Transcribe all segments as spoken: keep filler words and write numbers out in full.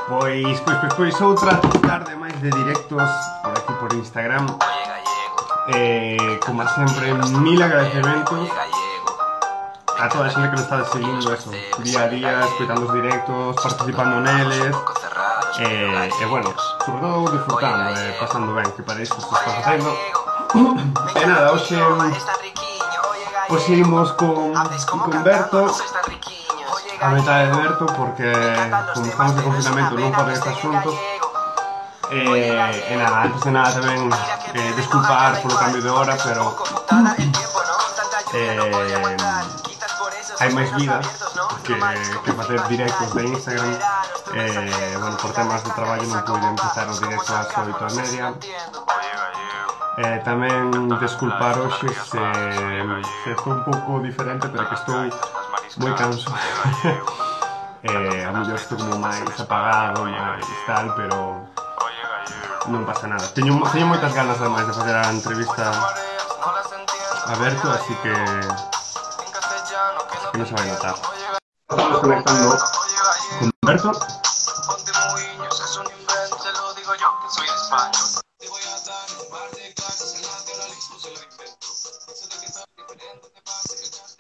Pois, pois, pois, pois outra tarde máis de directos por aquí por Instagram. Eh, como sempre, mil agradecementos a toda a xente que nos está seguindo eso, día a día, escoitando os directos, participando neles. Eh, e bueno, sobre todo disfrutando, eh, pasando ben, que para isto se está facendo. E nada, hoxe Hoxe imos con, con Berto, a metade de Berto, porque como estamos de confinamento non poden estar xuntos. Eh, e nada, antes de nada tamén eh, desculpar polo cambio de hora, pero eh, hai máis vida que, que facer directos de Instagram. Eh, bueno, por temas de traballo non pude empezar os directos ás oito e media. Eh, tamén desculpar hoxe se, se estou un pouco diferente, pero que estou moi canso. eh, a mellor estou como máis apagado, máis tal, pero non pasa nada. Teño, teño moitas ganas ademais de facer a entrevista a Berto, así que que non se vai notar. Estamos conectando con Berto.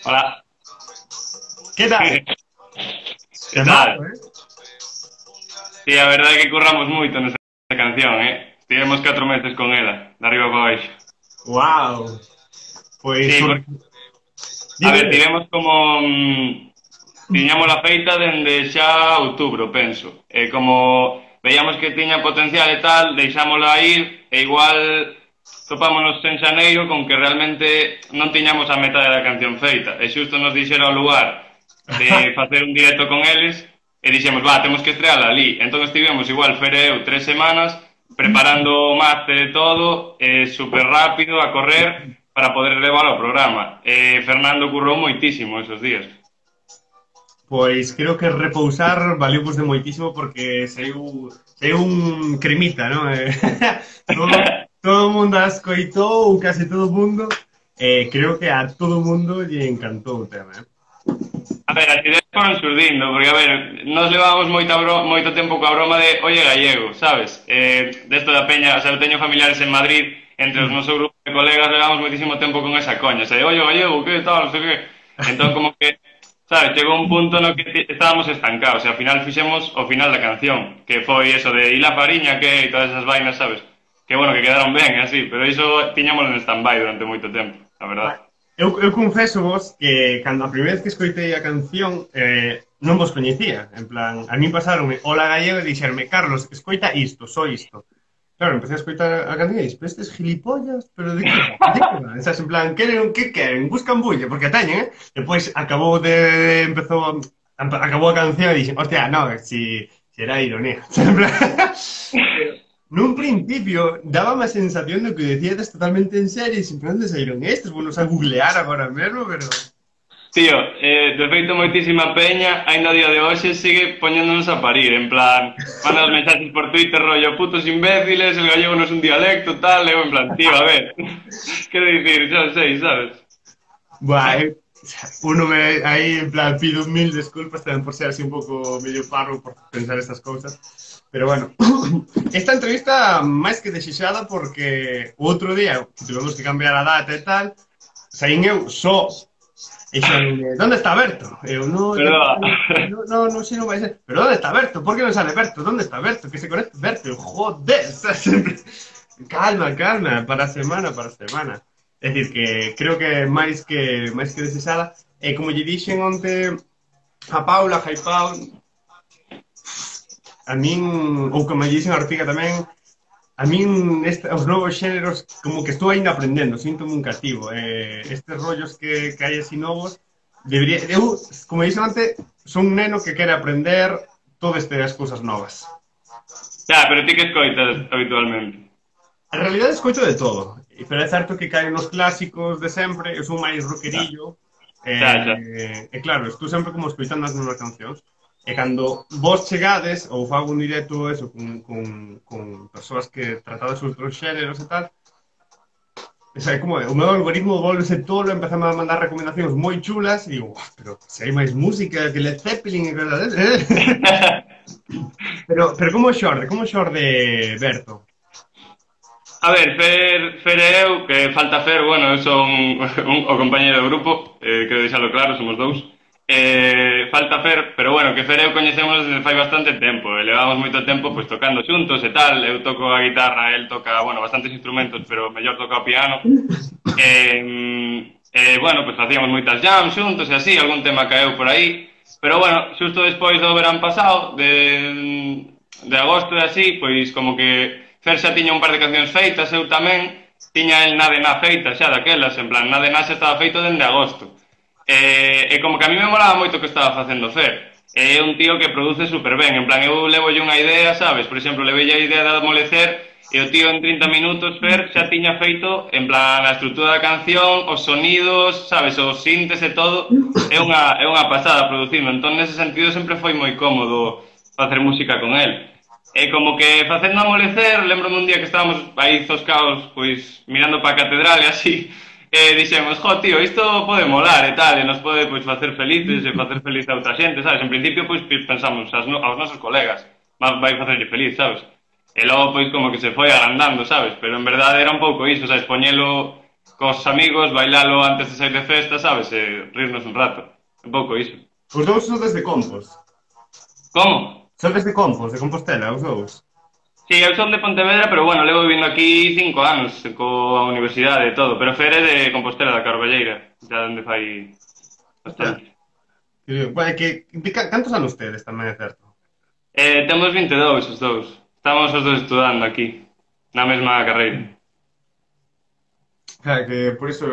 Hola. ¿Qué tal? ¿Qué tal? Malo, eh? Sí, a verdade é que curramos moito nesa canción, eh? Estivemos catro meses con ela, de arriba para baixo. Wow. Pois... Sí, porque... A ver, tivemos como... Mmm, tiñamos a feita dende xa outubro, penso. E como veíamos que tiña potencial e tal, deixámola ir, e igual... topámonos en xaneiro con que realmente non tiñamos a metade da canción feita e xusto nos dixera o lugar de facer un directo con eles e dixemos, va, temos que estreala ali. Entón estivemos igual Fere eu tres semanas preparando o máster e todo, eh, super rápido a correr para poder levar ao programa. E Fernando currou moitísimo esos días. Pois creo que repousar valió pues de moitísimo porque saiu, saiu un cremita, non? todo, todo o mundo a escoitou, case todo o mundo, e eh, creo que a todo o mundo lle encantou o tema, eh? A ver, as ideas foron surdindo, porque, a ver, nos levábamos moita bro, moito tempo coa broma de oye gallego, sabes? Eh, desto da peña, o sea, eu teño familiares en Madrid, entre os nosos grupos de colegas levamos moitísimo tempo con esa coña, o sea, oye gallego, que tal, non sei que... Entón, como que... Sabes, chegou un punto no que estábamos estancados e ao final fixemos o final da canción, que foi eso de ir a Fariña, que e todas esas vainas, sabes? Que bueno, que quedaron ben, así, pero iso tiñámoslo en stand-by durante moito tempo, a verdade. Eu, eu confeso vos que cando a primeira vez que escoitei a canción eh, non vos coñecía, en plan, a mí pasaronme Hola Gallego e dixerme, Carlos, escoita isto, só isto. Claro, empecé a escoitar a canción e dix, pero estes gilipollas, pero de que, de que van? Estás en plan, queren, que queren? Buscan bulla, porque a teñen, eh? Depois acabou de, empezou, acabou a canción e dixen, hostia, no, si, si era ironía. En plan, nun principio, daba a sensación de que decía totalmente en serio, e simplemente saíron estes, bueno, a googlear agora mesmo, pero... Tío, eh, de feito moitísima peña, ainda a día de hoxe sigue poñéndonos a parir, en plan, manda os mensajes por Twitter, rollo, putos imbéciles, el gallego non é un dialecto, tal, eu en plan, tío, a ver, quero dicir, xa sei, sabes? Buah, eh, uno me, aí, en plan, pido mil disculpas tamén por ser así un pouco medio parro por pensar estas cousas, pero bueno, esta entrevista máis que desexada porque o outro día, tivemos que cambiar a data e tal, saín eu só. E xen, ¿dónde está Berto? Eu, no, no, no, no sei, non vai ser. Pero ¿dónde está Berto? Por que non sale Berto? ¿Dónde está Berto? Que se conecte Berto. Eu, joder, está sempre... Calma, calma, para a semana, para a semana. É dicir, que creo que máis que máis que desexada. E como lle dixen onte a Paula, a Jaipau, a min, ou como lle dixen a Ortiga tamén, a min este, os novos xéneros como que estou ainda aprendendo, síntome un cativo. Eh, estes rollos que, que hai así novos, debería, eu, como dixen antes, son un neno que quere aprender todas estas cousas novas. Xa, pero ti que escoitas habitualmente? En realidad escoito de todo, pero é certo que caen os clásicos de sempre, eu son máis rockerillo, e eh, eh, claro, estou sempre como escoitando as novas cancións. E cando vos chegades, ou fago un directo eso, con, con, con persoas que tratades outros xéneros e tal, o sea, como o meu algoritmo volvese tolo, empezame a mandar recomendacións moi chulas, e digo, pero se hai máis música que Led Zeppelin e cosas Pero, pero como xorde? Como xorde Berto? A ver, Fer, Fer e eu, que falta Fer, bueno, eu son un, o compañeiro do grupo, eh, quero deixalo claro, somos dous. Eh, falta Fer, pero bueno, que Fer e eu coñecemos desde fai bastante tempo, e levamos moito tempo pois tocando xuntos e tal, eu toco a guitarra, el toca, bueno, bastantes instrumentos, pero mellor toca o piano. Eh, eh, bueno, pois facíamos moitas jams xuntos e así, algún tema caeu por aí, pero bueno, xusto despois do verán pasado, de, de agosto e así, pois como que Fer xa tiña un par de cancións feitas, eu tamén tiña el Nade Na feita xa daquelas, en plan, Nade Na xa estaba feito dende agosto. E, e como que a mí me molaba moito o que estaba facendo Fer. É un tío que produce super ben, en plan, eu levo unha idea, sabes? Por exemplo, levei a idea de Amolecer e o tío en trinta minutos, Fer, xa tiña feito, en plan, a estrutura da canción, os sonidos, sabes? Os sintes e todo. É unha, é unha pasada producindo. Entón, nese sentido, sempre foi moi cómodo facer música con el. E como que facendo Amolecer, lembro-me un día que estábamos aí zoscaos, pois, mirando para a catedral e así, e dixemos, jo, tío, isto pode molar e tal, e nos pode, pois, facer felices e facer feliz a outra xente, sabes? En principio, pois, pensamos as no, aos nosos colegas, vai facerlle feliz, sabes? E logo, pois, como que se foi agrandando, sabes? Pero en verdade era un pouco iso, sabes? Poñelo cos amigos, bailalo antes de sair de festa, sabes? E rirnos un rato. Un pouco iso. Os dous son desde Compos. Como? Son desde Compos, de Compostela, os dous. Sí, eu son de Pontevedra, pero bueno, levo vivindo aquí cinco anos, coa universidade e todo, pero Fer é de Compostela, da Carballeira, xa onde fai bastante. Bueno, que, que, cantos anos tedes tamén, é certo? Eh, temos vinte e dous os dous, estamos os dous estudando aquí, na mesma carreira. Claro, que por iso,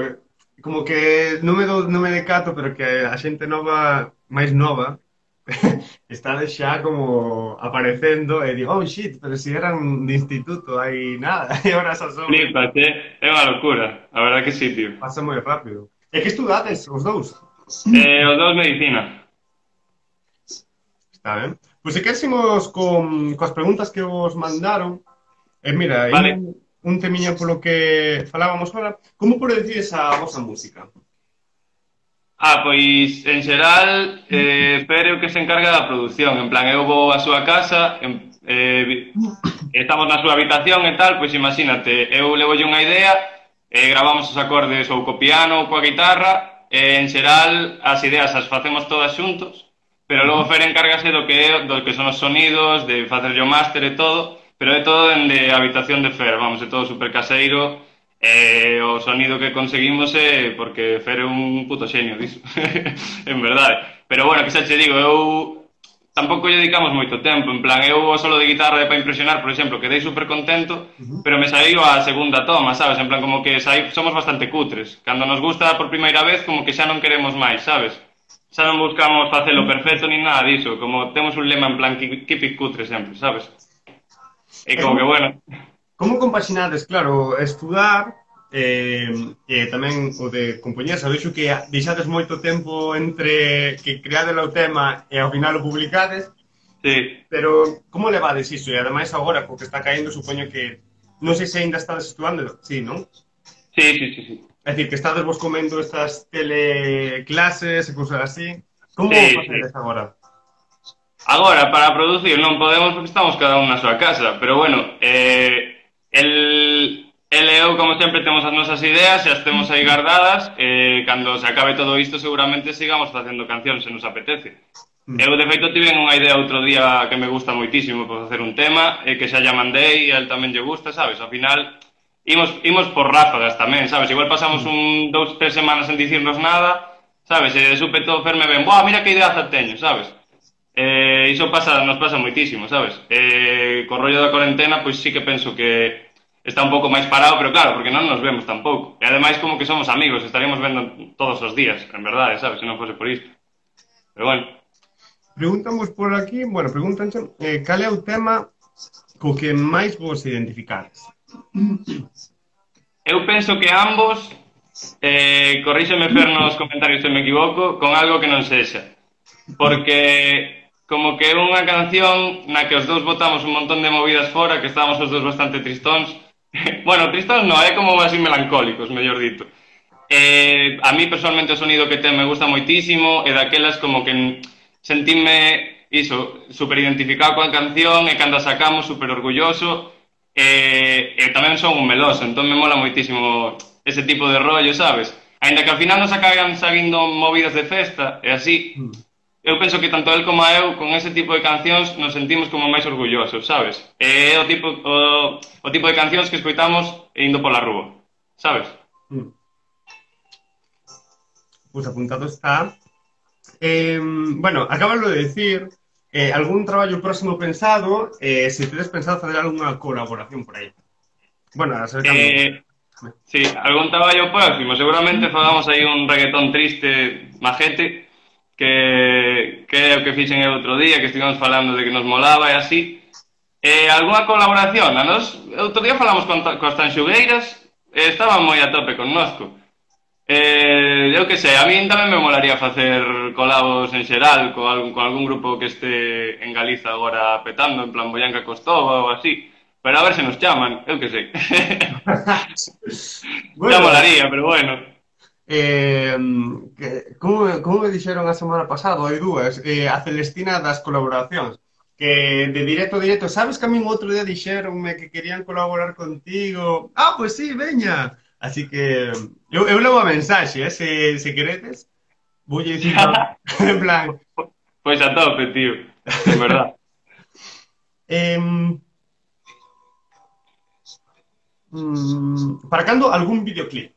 como que non me, do, non me decato, pero que a xente nova, máis nova, está xa como aparecendo e digo, oh shit, pero si eran de instituto, hai nada, e agora xa son... Flipas, eh? É unha locura, a verdad que sí, tío. Pasa moi rápido. E que estudades, os dous? Eh, os dous medicina. Está ben. Pois se quersemos con, coas preguntas que vos mandaron, e mira, vale. un, un temiño polo que falábamos ahora, como por decides a vosa música? Ah, pois, en xeral, eh, Fer é o que se encarga da produción. En plan, eu vou á súa casa, en, eh, estamos na súa habitación e tal, pois imagínate, eu levolle unha idea, eh, gravamos os acordes ou co piano ou coa guitarra, e en xeral as ideas as facemos todas xuntos, pero logo Fer encárgase do que, é, do que son os sonidos, de facer o máster e todo, pero é todo dende a habitación de Fer, vamos, é todo super caseiro. Eh, o sonido que conseguimos é porque Fer é un puto xenio disso, en verdade. Pero bueno, que xa che digo, eu tampouco lle dedicamos moito tempo, en plan, eu o solo de guitarra é para impresionar, por exemplo, quedei super contento, uh-huh. pero me saiu a segunda toma, sabes? En plan, como que saí, somos bastante cutres. Cando nos gusta por primeira vez, como que xa non queremos máis, sabes? Xa non buscamos facelo perfecto ni nada diso, como temos un lema en plan, keep it cutre sempre, sabes? E como que, bueno... Como compaxinades, claro, estudar e eh, eh, tamén o de compoñer, sabes que deixades moito tempo entre que creades o tema e ao final o publicades, sí. Pero como levades iso? E ademais agora, porque está caendo, supoño que non sei se ainda estades estudando, sí, non? Sí, sí, sí, sí. É dicir, que estades vos comendo estas teleclases e cousas así. Como sí, facedes sí. agora? Agora, para producir non podemos porque estamos cada un na súa casa, pero bueno, eh... El, el e eu, como sempre, temos as nosas ideas e as temos aí guardadas e cando se acabe todo isto seguramente sigamos facendo cancións se nos apetece. Mm. Eu, de feito, tive unha idea outro día que me gusta moitísimo para facer un tema e que xa lla mandei e a él tamén lle gusta, sabes? Ao final, imos, imos por ráfagas tamén, sabes? Igual pasamos un dous, tres semanas sen dicirnos nada, sabes? E de súpeto Ferme ben, buah, mira que ideaza teño, sabes? Eh, iso pasa, nos pasa moitísimo, sabes? Eh, co rollo da cuarentena, pois sí que penso que está un pouco máis parado, pero claro, porque non nos vemos tampouco. E ademais como que somos amigos, estaríamos vendo todos os días, en verdade, sabes? Se non fose por isto. Pero bueno. Preguntamos por aquí, bueno, preguntan eh, cal é o tema co que máis vos identificades? Eu penso que ambos, eh, corríxeme Fer nos comentarios se me equivoco, con algo que non sexa. Porque como que é unha canción na que os dous botamos un montón de movidas fora, que estábamos os dous bastante tristóns. Bueno, tristóns non, é como así melancólicos, mellor dito. Eh, a mí personalmente o sonido que ten me gusta moitísimo, e daquelas como que sentíme iso, super identificado coa canción e cando a sacamos super orgulloso e, e tamén son un meloso, entón me mola moitísimo ese tipo de rollo, sabes? Ainda que ao final nos acaban sabindo movidas de festa e así, eu penso que tanto el como eu con ese tipo de cancións nos sentimos como máis orgullosos, sabes? É o tipo, o, o tipo de cancións que escoitamos indo pola rúa, sabes? Mm. Pues apuntado está. Eh, bueno, acábalo de decir, eh, algún traballo próximo pensado, eh, se tedes pensado fazer algunha colaboración por aí. Bueno, a saber cando... Eh, sí, algún traballo próximo, seguramente fagamos aí un reggaetón triste, majete, que, que é o que fixen el outro día, que estivemos falando de que nos molaba e así. Eh, algunha colaboración, a nos, outro día falamos con, con as Tanxugueiras, e estaban moi a tope connosco. Eh, eu que sei, a min tamén me molaría facer colabos en xeral con algún, con algún grupo que este en Galiza agora petando, en plan Boyanca Costova ou así, pero a ver se nos chaman, eu que sei. Bueno, xa molaría, pero bueno. Eh, que, como, como me dixeron a semana pasada, hai dúas, eh, a Celestina das colaboracións, que de directo a directo, sabes que a min outro día dixeronme que querían colaborar contigo? Ah, pois pues sí, veña! Así que eu, eu levo a mensaxe, eh, se, se queredes, vou dicir en plan... Pois a tope, tío, en verdad. eh, mm, para cando algún videoclip?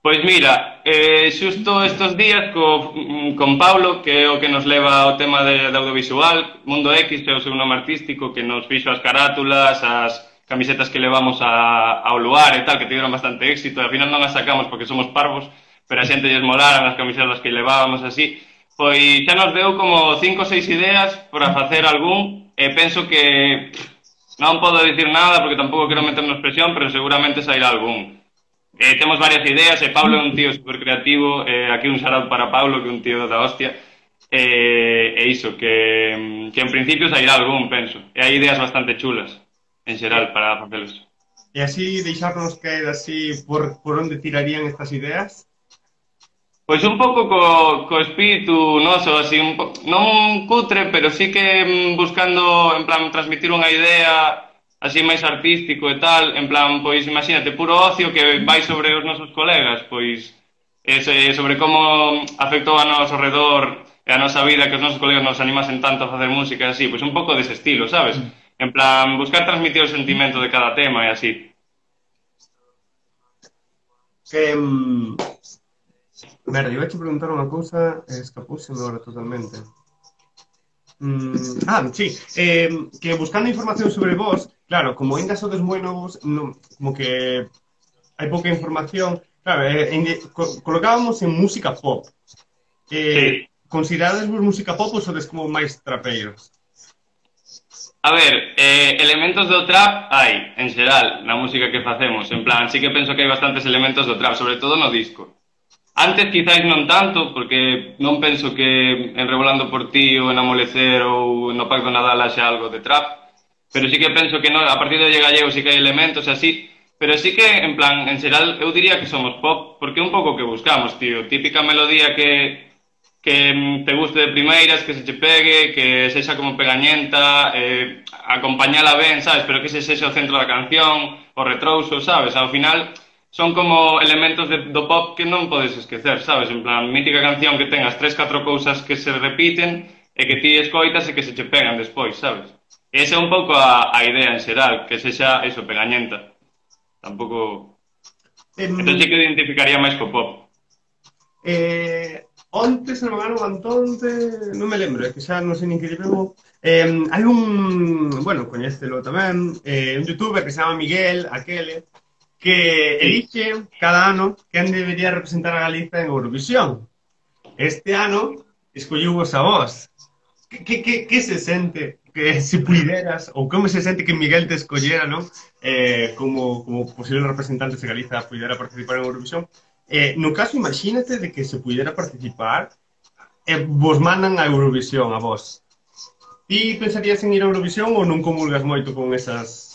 Pois mira, eh, xusto estes días co, con Paulo, que é o que nos leva ao tema de, de audiovisual, Mundo X, é o seu nome artístico, que nos fixo as carátulas, as camisetas que levamos a, ao lugar e tal, que tiveron bastante éxito, e ao final non as sacamos porque somos parvos, pero a xente lles molaran as camisetas que levábamos así, pois xa nos deu como cinco ou seis ideas para facer algún, e penso que non podo dicir nada porque tampouco quero meternos presión, pero seguramente sairá algún. Eh, temos varias ideas, e Pablo é un tío super creativo, eh, aquí un shout para Pablo, que é un tío da hostia, e eh, iso, que, que en principio sairá algún, penso, e hai ideas bastante chulas, en xeral, para facelos. E así deixarnos caer así por, por onde tirarían estas ideas? Pois un pouco co, co espírito noso, así, un po, non cutre, pero sí que buscando, en plan, transmitir unha idea así máis artístico e tal, en plan, pois imagínate, puro ocio que vai sobre os nosos colegas, pois ese, sobre como afectou a noso redor e a nosa vida que os nosos colegas nos animasen tanto a facer música e así, pois un pouco dese estilo, sabes? En plan, buscar transmitir o sentimento de cada tema e así. Que... Um... Merda, iba a te preguntar unha cousa e escapóseme agora totalmente. Mm, ah, sí, eh, que buscando información sobre vos, claro, como ainda sodes moi novos, no, como que hai pouca información, claro, eh, en, co colocábamos en música pop. Eh, sí. Considerades vos música pop ou sodes como máis trapeiros? A ver, eh, elementos do trap hai, en xeral, na música que facemos, en plan, sí que penso que hai bastantes elementos do trap, sobre todo no disco. Antes quizáis non tanto, porque non penso que en Revolando por ti ou en Amolecer ou no Pacto Nadal haxa algo de trap, pero sí que penso que no, a partir de Olle Gallego sí que hai elementos así, pero sí que, en plan, en xeral, eu diría que somos pop, porque é un pouco que buscamos, tío, típica melodía que, que te guste de primeiras, que se che pegue, que sexa como pegañenta, eh, acompañala ben, sabes, pero que se sexa o centro da canción, o retrouso, sabes, ao final... Son como elementos de, do pop que non podes esquecer, sabes? En plan, mítica canción que tengas tres, catro cousas que se repiten e que ti escoitas e que se che pegan despois, sabes? E esa é un pouco a, a idea en xeral, que sexa, eso, pegañenta. Tampouco... Um, entón sí que identificaría máis co pop. Eh, onte, se non me gano Antonte, non me lembro, é que xa non sei nin que lle pego. Eh, hai un, bueno, coñécelo tamén, eh, un youtuber que se chama Miguel, aquele, que elige cada ano quen debería representar a Galiza en Eurovisión. Este ano escolliu vos a vos. Que, que, que se sente que se puideras, ou como se sente que Miguel te escollera, non? Eh, como, como posible representante de Galiza puidera participar en Eurovisión. Eh, no caso, imagínate de que se puidera participar e eh, vos mandan a Eurovisión a vos. Ti pensarías en ir a Eurovisión ou non comulgas moito con esas...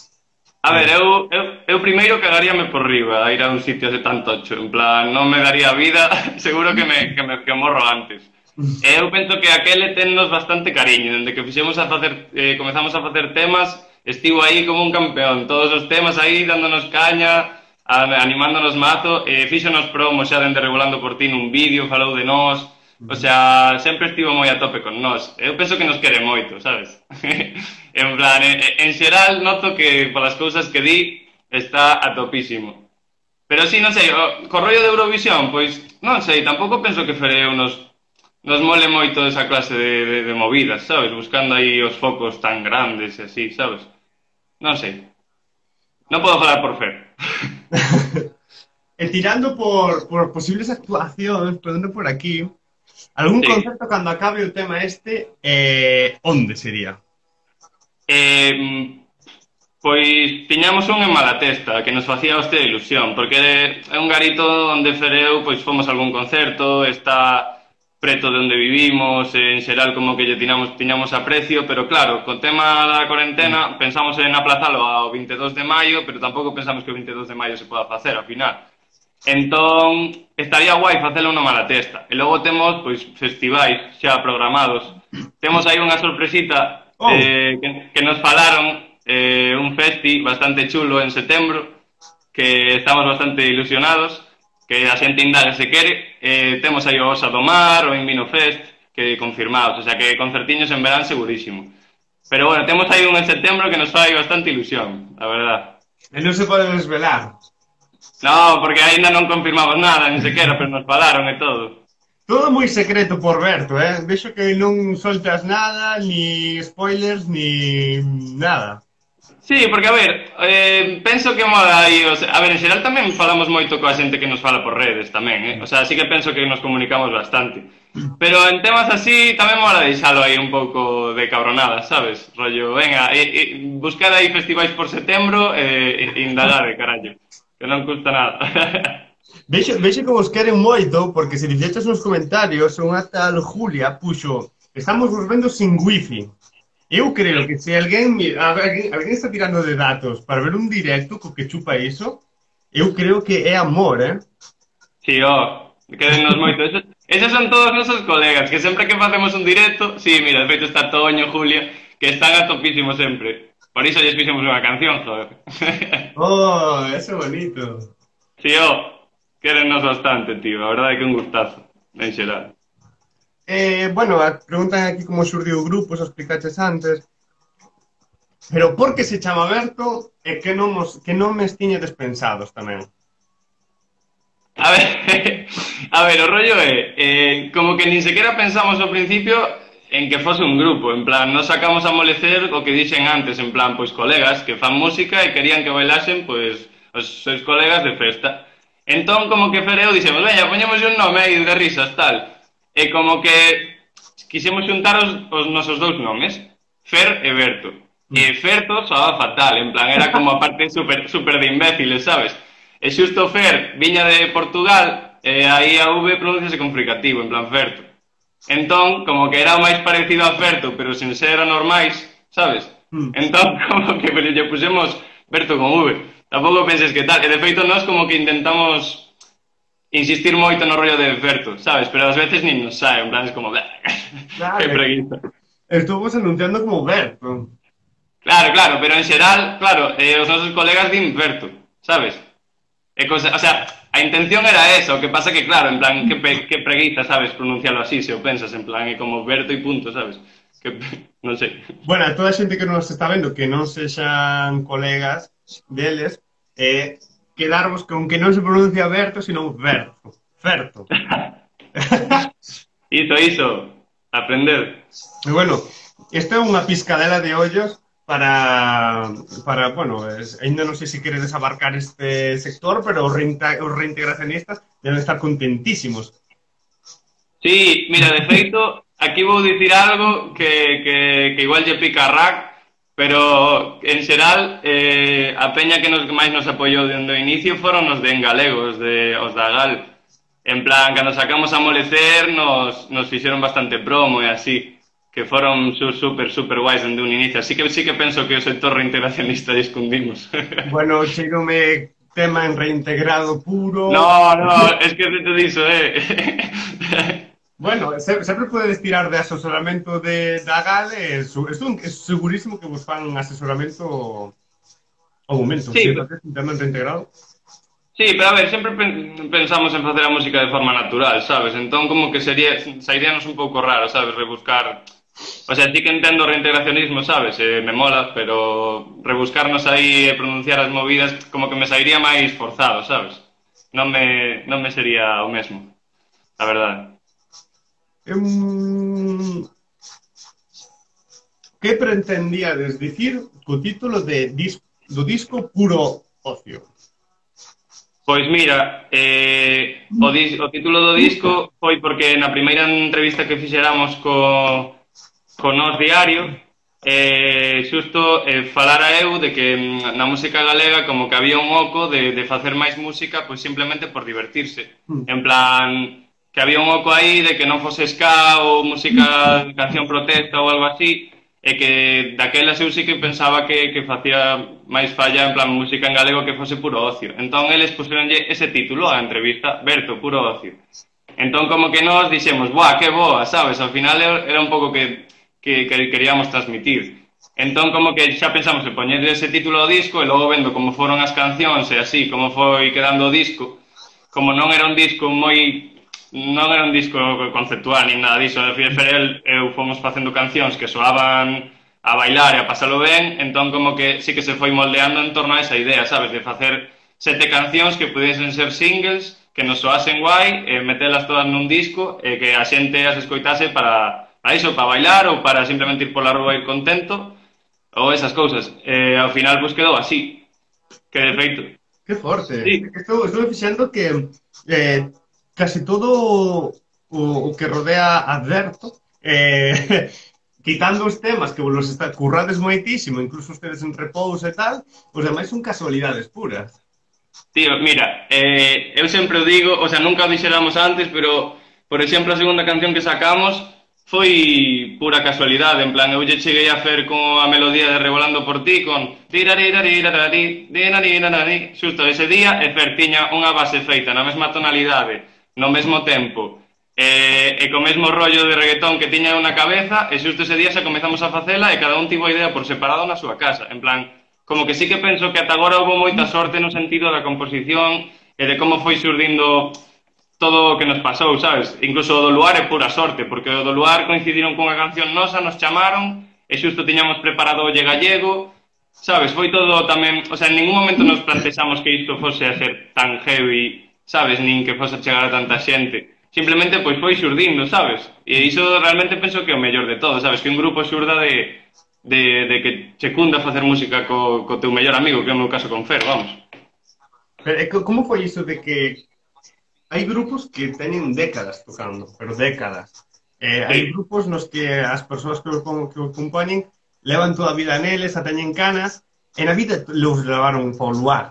A ver, eu, eu, eu primeiro cagaríame por riba a ir a un sitio de tan tocho, en plan, non me daría vida, seguro que me, que me que morro antes. E eu penso que aquele tennos bastante cariño, dende que fixemos a facer, eh, comezamos a facer temas, estivo aí como un campeón, todos os temas aí dándonos caña, a, animándonos mazo, e fíxonos promo xa dende Regulando por Ti nun vídeo, falou de nós, o sea, sempre estivo moi a tope con nós. Eu penso que nos quere moito, sabes? En plan, en, en xeral noto que polas cousas que di está a topísimo. Pero sí, non sei, o, co rollo de Eurovisión, pois, non sei, tampouco penso que Fereu nos nos mole moito esa clase de, de, de movidas, sabes? Buscando aí os focos tan grandes e así, sabes? Non sei. Non podo falar por Fer. E tirando por, por posibles actuacións, podendo por aquí, algún sí. Concerto cando acabe o tema este, eh, onde sería? Eh, pois tiñamos un en Malatesta, que nos facía hostia de ilusión, porque é un garito onde Fereu, pois fomos a algún concerto, está preto de onde vivimos, en xeral como que lle tiñamos, tiñamos aprecio, pero claro, co tema da cuarentena pensamos en aplazalo ao veintidós de maio, pero tampouco pensamos que o veintidós de maio se poda facer, ao final. Entón, estaría guai facelo no Malatesta. E logo temos, pois, festivais xa programados. Temos aí unha sorpresita oh. eh, que, que nos falaron, eh, un festi bastante chulo en setembro, que estamos bastante ilusionados, que a xente indaga se quere, eh, temos aí o Osa do Mar, o Invino Fest, que confirmados, o sea que concertiños en verán segurísimo. Pero bueno, temos aí un en setembro que nos fai bastante ilusión, a verdad. E non se pode desvelar? No, porque ainda non confirmamos nada, ni sequera, pero nos falaron e todo. Todo moi secreto por Berto, eh? Vexo que non soltas nada, ni spoilers, ni nada. Sí, porque, a ver, eh, penso que mola aí, o sea, a ver, en xeral tamén falamos moito coa xente que nos fala por redes tamén, eh? O sea, sí que penso que nos comunicamos bastante. Pero en temas así tamén mola deixalo aí un pouco de cabronada, sabes? Rollo, venga, eh, eh, buscar aí festivais por setembro e eh, indagar, carallo, que non custa nada. Vexo, vexo que vos queren moito, porque se dixeches nos comentarios, unha tal Julia puxo, estamos vos vendo sin wifi. Eu creo que se alguén, alguén, alguén está tirando de datos para ver un directo co que chupa iso, eu creo que é amor, eh? Sí, ó, quedennos moito. Esos, esos son todos nosos colegas, que sempre que facemos un directo, sí, mira, de feito está Toño, Julia, que están a topísimo sempre. Por iso lles fixemos unha canción, joder. Oh, eso é bonito. Sí, ó, querennos bastante, tío, a verdade é que un gustazo, en xeral. Eh, bueno, preguntan aquí como xurdiu o grupo, xa explicaches antes. Pero por que se chama Berto e que non, mos, que non me tiñedes pensados tamén? A ver, a ver, o rollo é, eh, como que nin sequera pensamos ao principio en que fose un grupo, en plan, nos sacamos a molecer o que dixen antes, en plan, pois colegas que fan música e querían que bailasen, pois, os seus colegas de festa. Entón, como que Fereu dixemos, veña, poñemos un nome aí de risas, tal. E como que quixemos xuntar os, os nosos dous nomes, Fer e Berto. E Ferto soaba fatal, en plan, era como a parte super, super de imbéciles, sabes? E xusto Fer viña de Portugal, e aí a V pronunciase con fricativo, en plan Ferto. Entón, como que era o máis parecido a Ferto, pero sen ser anormais, sabes? Entón, como que lle pusemos Berto con V. Tampouco penses que tal, e de feito nós como que intentamos insistir moito no rollo de Berto, sabes? Pero ás veces nin nos sae, en plan, es como... Claro, que preguiza. Estuvos anunciando como Berto. Claro, claro, pero en xeral, claro, eh, os nosos colegas din Berto, sabes? E cosa, o sea, a intención era esa, o que pasa que, claro, en plan, que, pe, que preguiza, sabes, pronunciarlo así, se o pensas, en plan, é como Berto e punto, sabes? Que, non sei. Bueno, a toda a xente que nos está vendo que non sexan colegas deles, eh... quedarvos con que non se pronuncia Berto, sino Berto. Ferto. Iso, iso. Aprender. E bueno, esta é unha piscadela de ollos para, para bueno, es, ainda non sei se queredes abarcar este sector, pero os, reinta, os reintegracionistas deben estar contentísimos. Sí, mira, de feito, aquí vou dicir algo que, que, que igual lle pica a rack, pero en xeral eh, a peña que nos máis nos apoiou dende o inicio foron os de en galego, os, de, os da Gal. En plan, cando sacamos a molecer nos, nos fixeron bastante promo e así, que foron su, super, super guais dende un inicio. Así que sí que penso que o sector reintegracionista escondimos. Bueno, cheirome tema en reintegrado puro... No, no, es que te diso, eh... Bueno, se, sempre podedes tirar de asesoramento de, da Gal e su, estou segurísimo que vos fan asesoramento ao momento, Sí, se pe- faces internamente integrado. sí, pero a ver, sempre pen- pensamos en facer a música de forma natural, sabes? Entón como que sería, sairíanos un pouco raro, sabes? Rebuscar. O sea, sí que entendo o reintegracionismo, sabes? Eh, me mola, pero rebuscarnos aí e pronunciar as movidas como que me sairía máis forzado, sabes? Non me, non me sería o mesmo, a verdade. Um, que pretendíades dicir co título de dis, do disco Puro Ocio? Pois mira, eh, o, dis, o título do disco foi porque na primeira entrevista que fixéramos co, co Nós Diario, eh, xusto eh, falara eu de que mm, na música galega como que había un oco de, de facer máis música pois simplemente por divertirse. En plan, que había un oco aí de que non fose ska ou música de canción protesta ou algo así, e que daquelas eu sí que pensaba que, que facía máis falla en plan música en galego que fose puro ocio. Entón eles puseronlle ese título á entrevista, Berto, puro ocio. Entón como que nós dixemos, buah, que boa, sabes? Ao final era un pouco que, que, que queríamos transmitir. Entón como que xa pensamos en poñer ese título ao disco e logo vendo como foron as cancións e así, como foi quedando o disco, como non era un disco moi non era un disco conceptual ni nada disso, de Ferel eu fomos facendo cancións que soaban a bailar e a pasalo ben, entón como que sí que se foi moldeando en torno a esa idea, sabes, de facer sete cancións que pudiesen ser singles, que nos soasen guai, e metelas todas nun disco e que a xente as escoitase para, para iso, para bailar ou para simplemente ir pola rúa e ir contento ou esas cousas. E ao final pois quedou así, que de feito. Que forte. Sí, Estou, estou fixando que eh, casi todo o, o que rodea Adverto, eh, quitando os temas que vos está, currades moitísimo, incluso ustedes en repouso e tal, os demais son casualidades puras. tío, mira, eh, eu sempre o digo, o sea, nunca o dixéramos antes, pero, por exemplo, a segunda canción que sacamos foi pura casualidade, en plan, eu lle cheguei a fer con a melodía de Revolando por ti, con xusto ese día, e Fer tiña unha base feita na mesma tonalidade, no mesmo tempo, e, e co mesmo rollo de reggaetón que tiña na cabeza, e xusto ese día xa comezamos a facela e cada un tivo a idea por separado na súa casa, en plan, como que sí que penso que ata agora houve moita sorte no sentido da composición e de como foi xurdindo todo o que nos pasou, sabes? Incluso o do Luar é pura sorte, porque o do Luar coincidiron cunha canción nosa, nos chamaron, e xusto tiñamos preparado o Lle Gallego, sabes? Foi todo tamén, o sea, en ningún momento nos plantexamos que isto fose a ser tan heavy, sabes? Nin que fose a chegar a tanta xente. Simplemente, pois, foi xurdindo, sabes? E iso realmente penso que é o mellor de todo, sabes? Que un grupo xurda de, de, de que che cunda facer música co, co teu mellor amigo, que é o meu caso con Fer, vamos. Pero, como foi iso de que hai grupos que teñen décadas tocando, pero décadas. Eh, hai Sí. grupos nos que as persoas que o, que o compoñen levan toda a vida neles, a teñen canas, e na vida los levaron para o luar,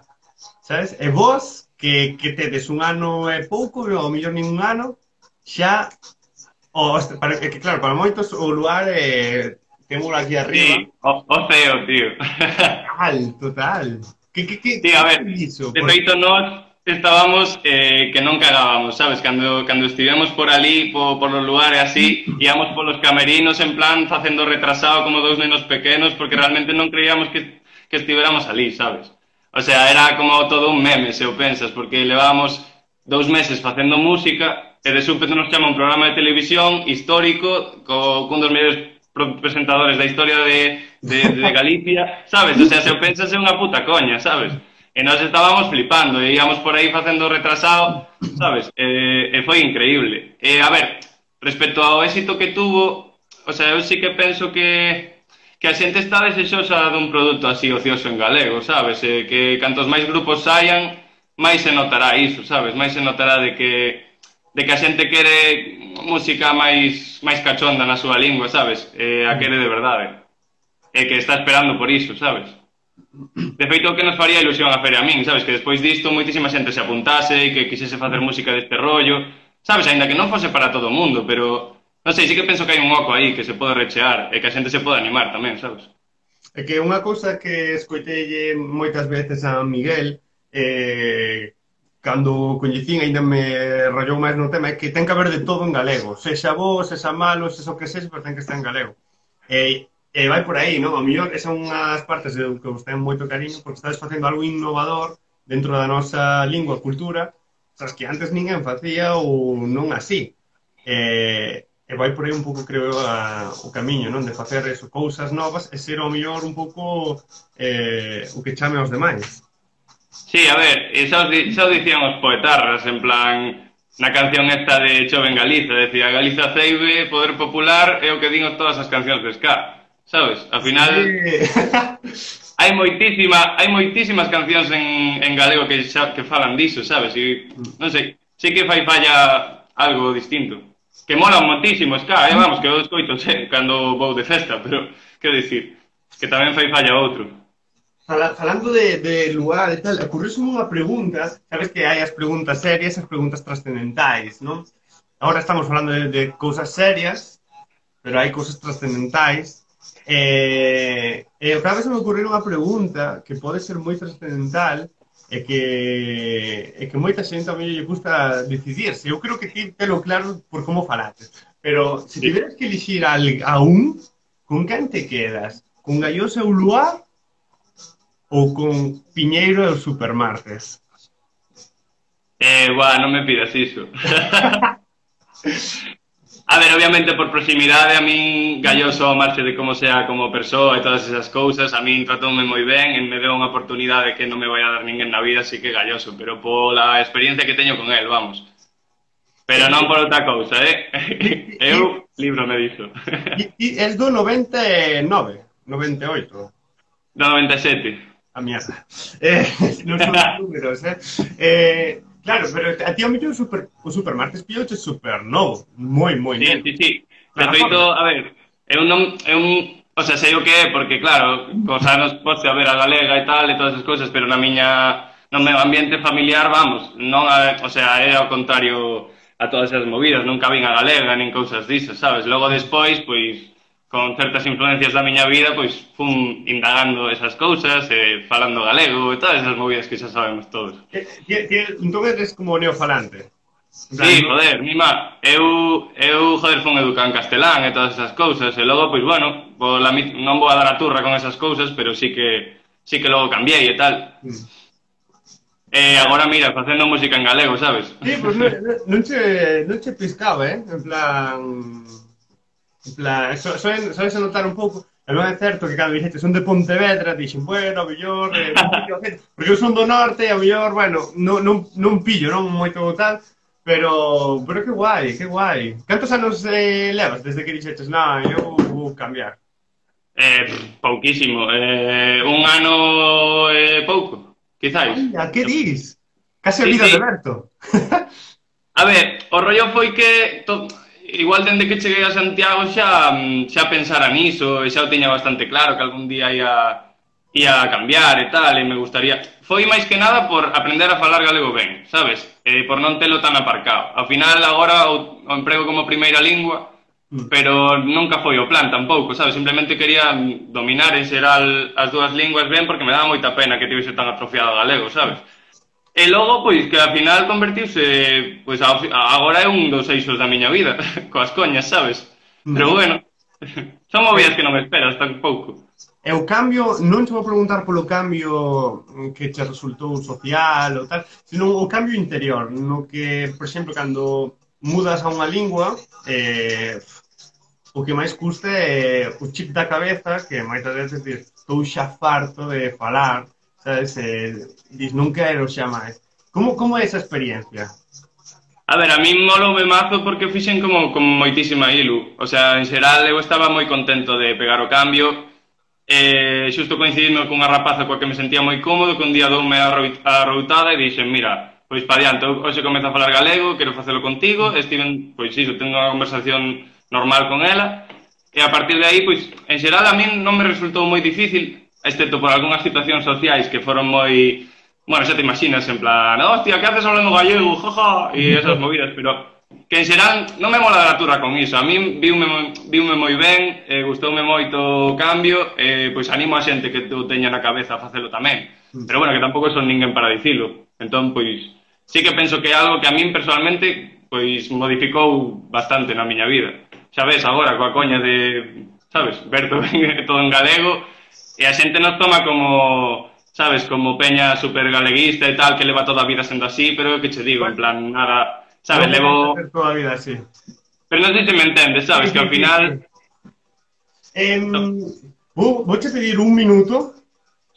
sabes? E vos, que, que tedes un ano e pouco, ou mellor nin un ano, xa, o, para, que claro, para moitos o luar é, temos aquí arriba. Sí, o, o ceo, tío. Total, total. Que, que, que, Sí, a ver, iso? de Porque, feito nós estábamos eh, que non cagábamos, sabes? Cando, cando estivemos por ali, po, por los lugares así, íamos polos camerinos en plan facendo retrasado como dous nenos pequenos porque realmente non creíamos que, que estivéramos ali, sabes? O sea, era como todo un meme, se o pensas, porque levábamos dous meses facendo música e de súpeto nos chama un programa de televisión histórico co, cun dos mellores presentadores da historia de, de, de Galicia, sabes? O sea, se o pensas é unha puta coña, sabes? E nós estábamos flipando, e íamos por aí facendo retrasado, sabes? E, e foi increíble. E, a ver, respecto ao éxito que tuvo, o sea, eu sí que penso que, que a xente está desexosa dun produto así ocioso en galego, sabes? E que cantos máis grupos saian, máis se notará iso, sabes? Máis se notará de que, de que a xente quere música máis, máis cachonda na súa lingua, sabes? E a quere de verdade. E que está esperando por iso, sabes? De feito, o que nos faría ilusión a Fer e a min, sabes? Que despois disto moitísima xente se apuntase e que quixese facer música deste rollo, sabes? Ainda que non fose para todo o mundo, pero non sei, sí que penso que hai un oco aí que se pode rechear e que a xente se pode animar tamén, sabes? é que unha cousa que escoitei moitas veces a Miguel, eh, cando coñecín ainda me rayou máis no tema, é que ten que haber de todo en galego, sexa bo, sexa malo, sexa o que sexa, pero ten que estar en galego. E, e vai por aí, non? Ao mellor, esas son unhas partes de que vos ten moito cariño, porque estades facendo algo innovador dentro da nosa lingua, cultura, sabes, que antes ninguén facía ou non así. E, e vai por aí un pouco, creo, a, o camiño, non? De facer eso, cousas novas e ser ao mellor un pouco eh, o que chame aos demais. Sí, a ver, xa os, xa os dicían os poetarras, en plan, na canción esta de Chove en Galiza, decía, Galiza ceibe, poder popular, é o que din todas as cancións de ska, sabes? Ao final, sí. hai moitísima, hai moitísimas cancións en, en galego que, xa, que falan diso, sabes? E, non sei, sí que fai falla algo distinto. Que mola moitísimo ska, eh, vamos, que eu escoito sei, cando vou de festa, pero, quero dicir, que tamén fai falla outro. Falando de, de lugar e tal, ocurriu-me unha pregunta, sabes que hai as preguntas serias e as preguntas trascendentais, non? Agora estamos falando de, de cousas serias, pero hai cousas trascendentais, e, e cada vez me ocurriu unha pregunta que pode ser moi trascendental e que, e que moita xente a mí lle gusta decidirse. Eu creo que ti telo claro por como falaste, pero se tiveras que elixir a, a un, con quen te quedas? Con Galloso e o Luar? Ou con Piñeiro e os Supermartes? Eh, buah, non me pidas iso. A ver, obviamente por proximidade, a min Galloso, ao marche de como sea como persoa e todas esas cousas, a min tratoume moi ben, e me deu unha oportunidade que non me vai a dar ninguén na vida, así que Galloso, pero pola experiencia que teño con el, vamos. Pero non por outra cousa, eh? Eu libro me diso. E es do noventa e nove, noventa e oito? Do noventa e sete. A mierda. Eh, non son números, eh? eh? Claro, pero a ti ao mellor super, o Supermartes pillouche super novo, moi, moi sí, neno. Sí, sí, sí. De feito, a ver, eu non, eu, o sea, sei o que é, porque claro, cos anos poste a ver a galega e tal, e todas as cousas, pero na miña, no meu ambiente familiar, vamos, non, a, o sea, é ao contrario a todas as movidas, nunca vin a galega, nin cousas disso, sabes? Logo despois, pois, con certas influencias da miña vida, pois fun indagando esas cousas, eh, falando galego e todas esas movidas que xa sabemos todos. Entón eres como neofalante? Sí, joder, mima, eu, eu, joder, fun educado en castelán e todas esas cousas, e logo, pois, bueno, pola, non vou a dar a turra con esas cousas, pero sí que, sí que logo cambiei e tal. Mm. E agora, mira, facendo música en galego, sabes? Sí, pois pues non, non, che, non che piscaba, eh? En plan... En plan, so, so, sabes a notar un pouco, e non é certo que cando dixete son de Pontevedra, dixen, bueno, a mellor, eh, porque eu son do norte, a mellor, bueno, non, non, non pillo, non moito tal, pero, pero que guai, que guai. Cantos anos eh, levas desde que dixetes, non, eu vou cambiar? Eh, pouquísimo, eh, un ano e eh, pouco, quizáis. Ai, que dis? Case a vida sí, sí. de Berto. A ver, o rollo foi que... To... Igual dende que cheguei a Santiago xa, xa pensara niso e xa o tiña bastante claro que algún día ia, ia cambiar e tal, e me gustaría... Foi máis que nada por aprender a falar galego ben, sabes? E por non telo tan aparcado. Ao final, agora o, o emprego como primeira lingua, pero nunca foi o plan tampouco, sabes? Simplemente quería dominar en xeral as dúas linguas ben porque me daba moita pena que tivese tan atrofiado o galego, sabes? E logo, pois, que ao final convertiuse, pois, agora é un dos eixos da miña vida, coas coñas, sabes? Pero bueno, son movidas que non me esperas tampouco. E o cambio, non te vou preguntar polo cambio que te resultou social ou tal, sino o cambio interior, no que, por exemplo, cando mudas a unha lingua, eh, o que máis custa é o chip da cabeza, que moitas veces diz, estou xa farto de falar, sabes, eh, dis, non quero xa máis. Como, como é esa experiencia? A ver, a mí moloume mazo porque fixen como, como moitísima ilu. O sea, en xeral, eu estaba moi contento de pegar o cambio. Eh, xusto coincidimos cunha rapaza coa que me sentía moi cómodo, que un día doume a routada e dixen, mira, pois pa diante, hoxe comezo a falar galego, quero facelo contigo, e estiven, pois iso, tengo unha conversación normal con ela, e a partir de aí, pois, en xeral, a min non me resultou moi difícil, excepto por algunhas situacións sociais que foron moi... Bueno, xa te imaginas, en plan, hostia, que haces hablando gallego, jaja, e esas movidas, pero que en xeral non me mola dar a turra con iso. A min viume, viume moi ben, eh, gustoume moito o cambio, e eh, pois animo a xente que o teña na cabeza a facelo tamén. Pero bueno, que tampouco son ninguén para dicilo. Entón, pois, sí que penso que é algo que a min personalmente pois modificou bastante na miña vida. Xa ves, agora coa coña de, sabes, ver todo en, todo en galego e a xente nos toma como, sabes, como peña super galeguista e tal, que leva toda a vida sendo así, pero que che digo, en plan, nada, sabes, No levo... puedes hacer toda la vida así. Pero non sei se me entendes, sabes, Sí, que sí, ao sí, final... sí. Em, vou, vouche pedir un minuto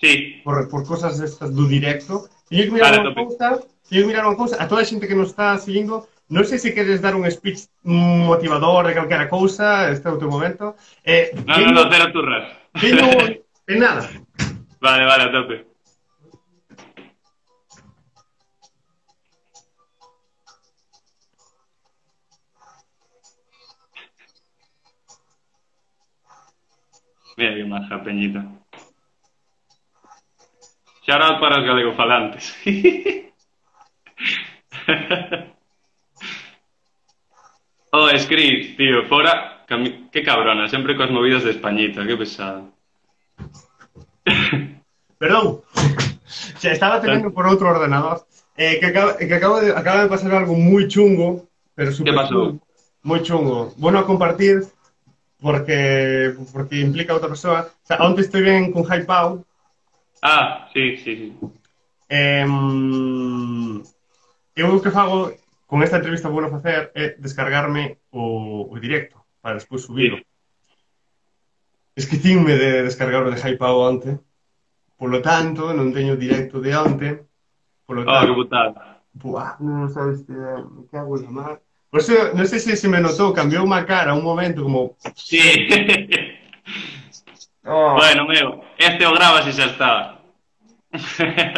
Sí, por, por cosas destas do directo. Teño que mirar vale, unha tope. cousa, teño que mirar unha cousa. A toda a xente que nos está seguindo, non sei se queres dar un speech motivador de calquera cousa, este é o teu momento. Eh, No, no, teño, no, cero turras. teño, en nada. Vale, vale, a tope. Mira que maja, Peñita. Shout out para os galegofalantes. Oh, Scris, tío, fora... cami- Qué cabrona, sempre coas movidas de Españita, que pesado. Perdón. Se estaba teniendo por outro ordenador. Eh, que acaba, que acabo de, acaba de pasar algo moi chungo, pero Que super pasou? chungo. Moi chungo. Bueno a compartir porque porque implica a outra persoa. O sea, onte estoy ben con Hypao. Ah, sí, sí, sí. Eh, eu o que fago con esta entrevista que vou facer é descargarme o, o directo para despois subilo. Sí. Esquecinme de descargarme de Hypao onte. Polo tanto, non teño o directo de onte. Polo Oh, que tanto, putada. buah, non sabes que me cago en la mar. Por eso, non sei se se me notou, cambiou má cara un momento como... Sí. Oh. Bueno, meu, este o grabas e xa está.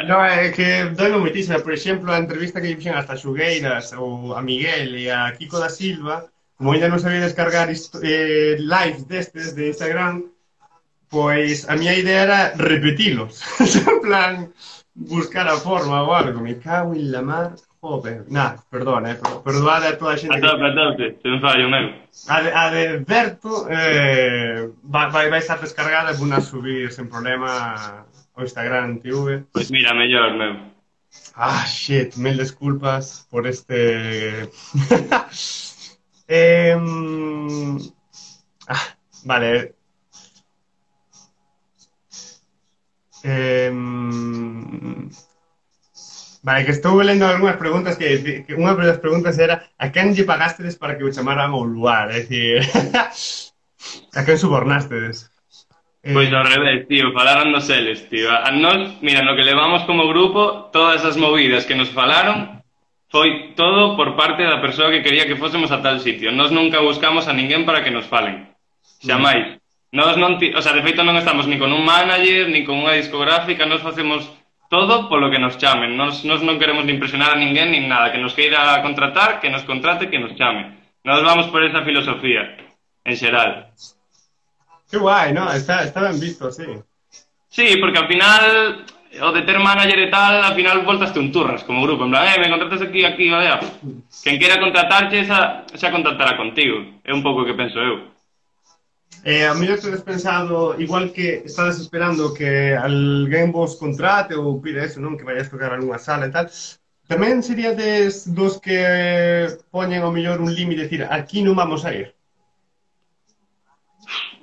No, é que doino moitísima. Por exemplo, a entrevista que fixen hasta Xugueiras ou a Miguel e a Kiko da Silva, como ainda non sabía descargar eh, lives destes de Instagram, pois a miña idea era repetilos. En plan, buscar a forma ou algo. Me cago en la mar. Joder. Nah, perdona, eh, pero perdoade a toda a xente A que... tope, a tope, sen fallo, meu. A de, a de Berto eh, vai, vai, vai estar descargada e vou a subir sen problema ao Instagram T V. Pois mira, mellor, meu. Ah, shit, mil disculpas por este... eh, ah, vale. Eh, vale, que estou lendo algunhas preguntas que, que unha das preguntas era a quen lle pagastedes para que o chamaran ao lugar, é dicir, a quen subornástedes. Pois ao revés, tío, falaron nos eles, tío. A nos, mira, no que levamos como grupo, todas esas movidas que nos falaron foi todo por parte da persoa que quería que fósemos a tal sitio. Nos nunca buscamos a ninguén para que nos falen. Xamais. Nos non, ti, o sea, de feito non estamos ni con un manager, ni con unha discográfica, nos facemos todo polo que nos chamen. Nos, nos non queremos ni impresionar a ninguén, ni nada. Que nos queira contratar, que nos contrate, que nos chame. Nos vamos por esa filosofía, en xeral. Que guai, ¿no? Está, está ben visto, sí. Sí, porque al final, o de ter manager e tal, al final voltaste un turras como grupo. En plan, eh, me contratas aquí, aquí, vaya. Quen quera contratarche, xa, xa contactará contigo. É un pouco o que penso eu. Eh, a mellor tedes pensado, igual que estades esperando que alguén vos contrate ou pide eso, non? Que vayas tocar algunha sala e tal. Tamén sería des dos que poñen ao mellor un límite, decir, aquí non vamos a ir.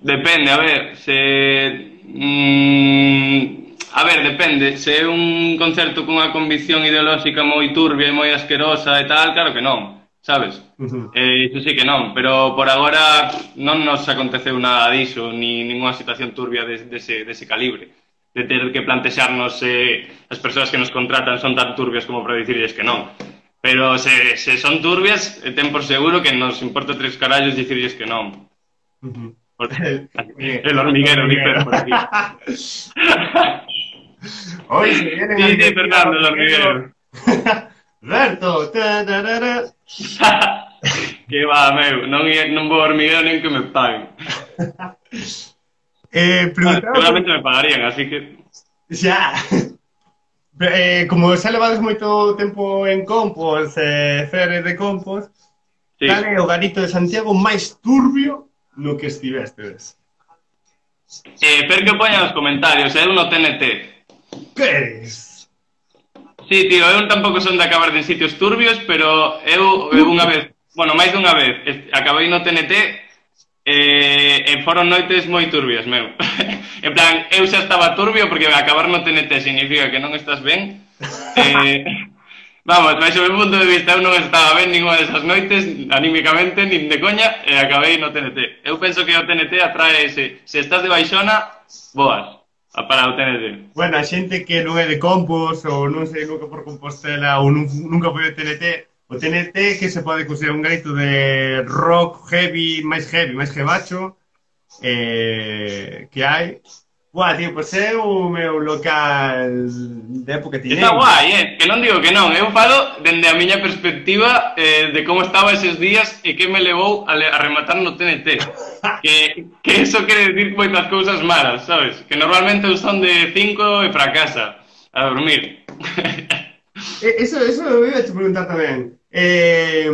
Depende, a ver, se... Mm, a ver, depende. Se é un concerto cunha convicción ideolóxica moi turbia e moi asquerosa e tal, claro que non, sabes? Uh-huh. Eh, iso sí que non, pero por agora non nos aconteceu nada diso, ni ninguna situación turbia de, de ese, de ese calibre. De ter que plantexarnos se eh, as persoas que nos contratan son tan turbias como para dicirles que non. Pero se, se son turbias, ten por seguro que nos importa tres carallos dicirles que non. Uh-huh. El, el hormiguero, dice por aquí. Hoy se viene sí, sí, Fernando, el hormiguero. Berto. Que va, meu, non, non vou hormiguero nen que me paguen. eh, Seguramente me pagarían, así que... Xa. Eh, como xa levades moito tempo en Compos, eh, Fere de Compos, sí. Cal é o garito de Santiago máis turbio no que estivestes? Eh, per que poñan nos comentarios, é un no T N T. Que eres? Sí, tío, eu tampouco son de acabar en sitios turbios, pero eu, eu unha vez, bueno, máis dunha vez, acabei no T N T eh, e foron noites moi turbias, meu. En plan, eu xa estaba turbio porque acabar no T N T significa que non estás ben. Eh, vamos, máis o meu punto de vista, eu non estaba ben ninguna desas noites, anímicamente, nin de coña, e acabei no T N T. Eu penso que o T N T atrae, se, se estás de baixona, boas. Para o T N T. Bueno, a xente que non é de Compos ou non sei nunca por Compostela ou nun, nunca foi o T N T, o T N T que se pode considerar un grito de rock heavy, máis heavy, máis jebacho eh, que hai. Buah, tío, pois é o meu local de época tiñeira. Está guai, eh? Que non digo que non. Eu falo dende a miña perspectiva eh, de como estaba eses días e que me levou a, a rematar no T N T. Que, que eso quere decir moitas cousas malas, sabes? Que normalmente son de cinco e para casa a dormir. Eso, eso me iba a te preguntar tamén. Eh,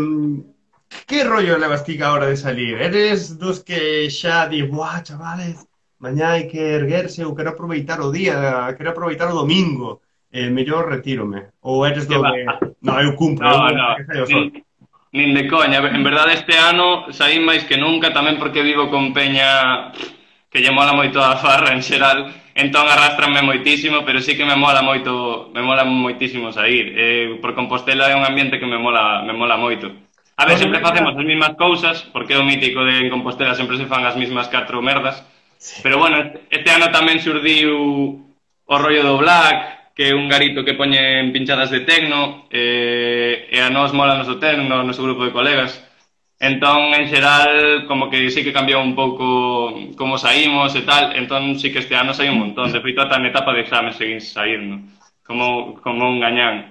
que rollo levas ti a hora de salir? Eres dos que xa di, buah, chavales, mañá hai que erguerse, ou quero aproveitar o día, quero aproveitar o domingo, eh, mellor retírome? Ou eres do de, no, eu cumpro, no, eu no, que saio sol? Nin de coña, en verdade este ano saí máis que nunca, tamén porque vivo con peña que lle mola moito a farra en xeral, entón arrastranme moitísimo, pero sí que me mola moito, me mola moitísimo sair. Eh, por Compostela é un ambiente que me mola, me mola moito. A ver, sempre facemos as mesmas cousas, porque é o mítico de en Compostela sempre se fan as mesmas catro merdas, pero bueno, este ano tamén surdiu o rollo do Black, que é un garito que poñen pinchadas de tecno, e, e a nós mola noso tecno, no noso grupo de colegas. Entón, en xeral, como que sí que cambiou un pouco como saímos e tal, entón sí que este ano sai un montón. De feito, ata en etapa de examen seguín saindo, como, como un gañán.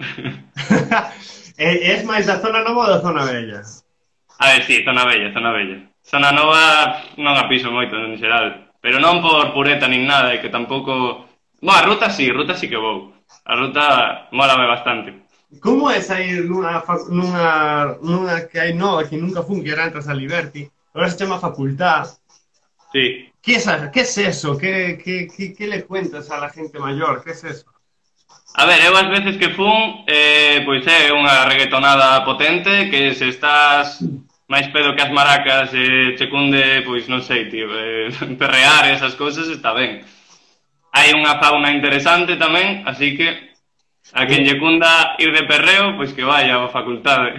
É máis da zona nova ou da zona bella? A ver, sí, zona bella, zona bella. Zona nova non a piso moito, en xeral. Pero non por pureta nin nada, e que tampouco... Bom, a ruta sí, ruta sí que vou. A ruta mólame bastante. Como é sair nunha, nunha, nunha que hai nova, que nunca fun, que era antes a Liberty, agora se chama Facultad? Sí. Que é, que es eso? Que, que, que, que le cuentas a la gente maior? Que es eso? A ver, eu as veces que fun, eh, pois é unha reggaetonada potente, que se estás máis pedo que as maracas e eh, che cunde, pois non sei, tío, eh, perrear esas cousas está ben. Hai unha fauna interesante tamén, así que a quen lle cunda ir de perreo, pois que vaya á facultade.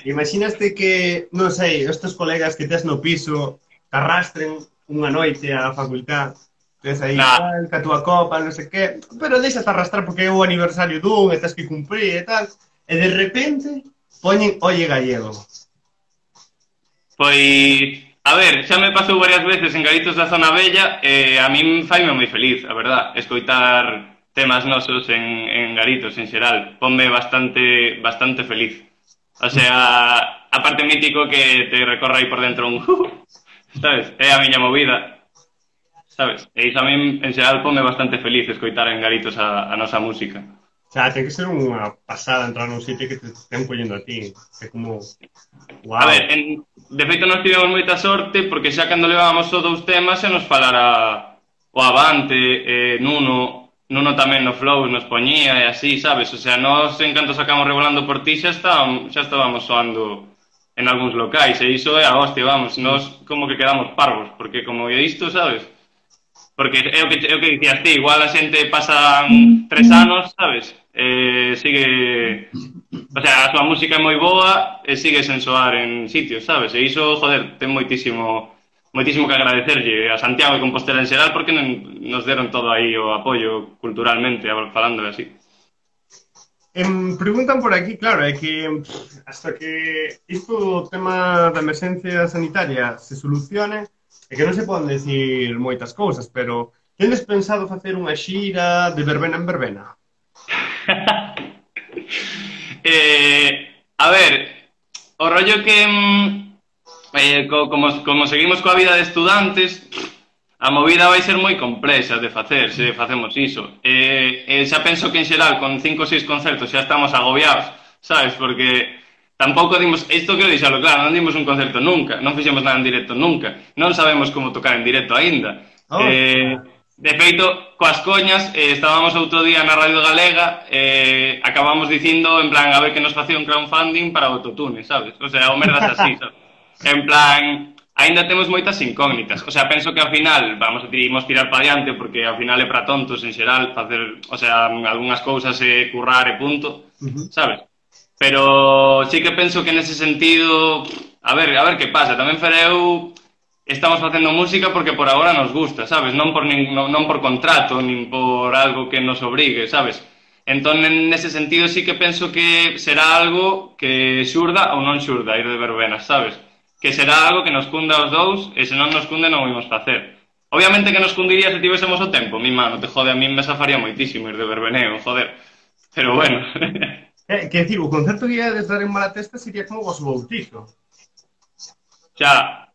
Imaginaste que, non sei, estes colegas que tes no piso te arrastren unha noite á facultad, tes aí nah. tal, que a túa copa, non sei que, pero deixas arrastrar porque é o aniversario dun e tes que cumprir e tal, e de repente poñen Oye Gallego. Pois, a ver, xa me pasou varias veces en garitos da zona bella e a min faime moi feliz, a verdad, escoitar temas nosos en, en garitos en xeral, ponme bastante bastante feliz. O sea, a parte mítico que te recorra aí por dentro un sabes, é a miña movida, sabes? E iso a min en xeral ponme bastante feliz escoitar en garitos a, a nosa música. O sea, ten que ser unha pasada entrar nun sitio que te estén collendo a ti, é como... Wow. A ver, en, de feito nos tivemos moita sorte porque xa cando levábamos só dous temas se nos falara o Avante, eh, Nuno... Nuno tamén no flow nos poñía e así, sabes? O sea, nós en canto sacamos Revolando por ti xa estábamos, xa estábamos soando en algúns locais e iso é a hostia, vamos, nós como que quedamos parvos, porque como é isto, sabes? Porque é o que, é o que dicías ti, igual a xente pasan tres anos, sabes? Eh, sigue... O sea, a súa música é moi boa e sigue sen soar en sitios, sabes? E iso, joder, ten moitísimo... moitísimo que agradecerlle a Santiago e Compostela en xeral porque nos deron todo aí o apoio culturalmente, falando así. Em, preguntan por aquí, claro, é que hasta que isto o tema da emerxencia sanitaria se solucione, é que non se poden decir moitas cousas, pero tendes pensado facer unha xira de verbena en verbena? eh, a ver, o rollo que... Eh, co, como, como seguimos coa vida de estudantes, a movida vai ser moi complexa de facer, se facemos iso. Eh, eh, xa penso que en xeral con cinco ou seis concertos xa estamos agobiados, sabes? Porque tampouco dimos, isto quero dixalo claro, non dimos un concerto nunca, non fixemos nada en directo nunca, non sabemos como tocar en directo aínda. Oh. Eh, De feito, coas coñas, eh, estábamos outro día na Radio Galega, eh, acabamos dicindo, en plan, a ver que nos facía un crowdfunding para o autotune, sabes? O sea, o merdas así, sabes? En plan, aínda temos moitas incógnitas. O sea, penso que ao final vamos a imos tirar para diante, porque ao final é para tontos en xeral, facer, o sea, algunhas cousas e currar e punto, sabes? Pero sí que penso que nese sentido, a ver, a ver que pasa. Tamén Fereu estamos facendo música porque por agora nos gusta, sabes? Non por, nin, non, non por contrato, nin por algo que nos obrigue, sabes? Entón, nese sentido, sí que penso que será algo que xurda ou non xurda ir de verbenas, sabes? Que será algo que nos cunda aos dous e se non nos cunde non o imos facer. Obviamente que nos cundiría se tivésemos o tempo, mi mano, te jode, a mí me safaría moitísimo ir de verbeneo, joder. Pero bueno. eh, que decir, o concerto que ia de estar en Malatesta sería como vos bautizo. Xa...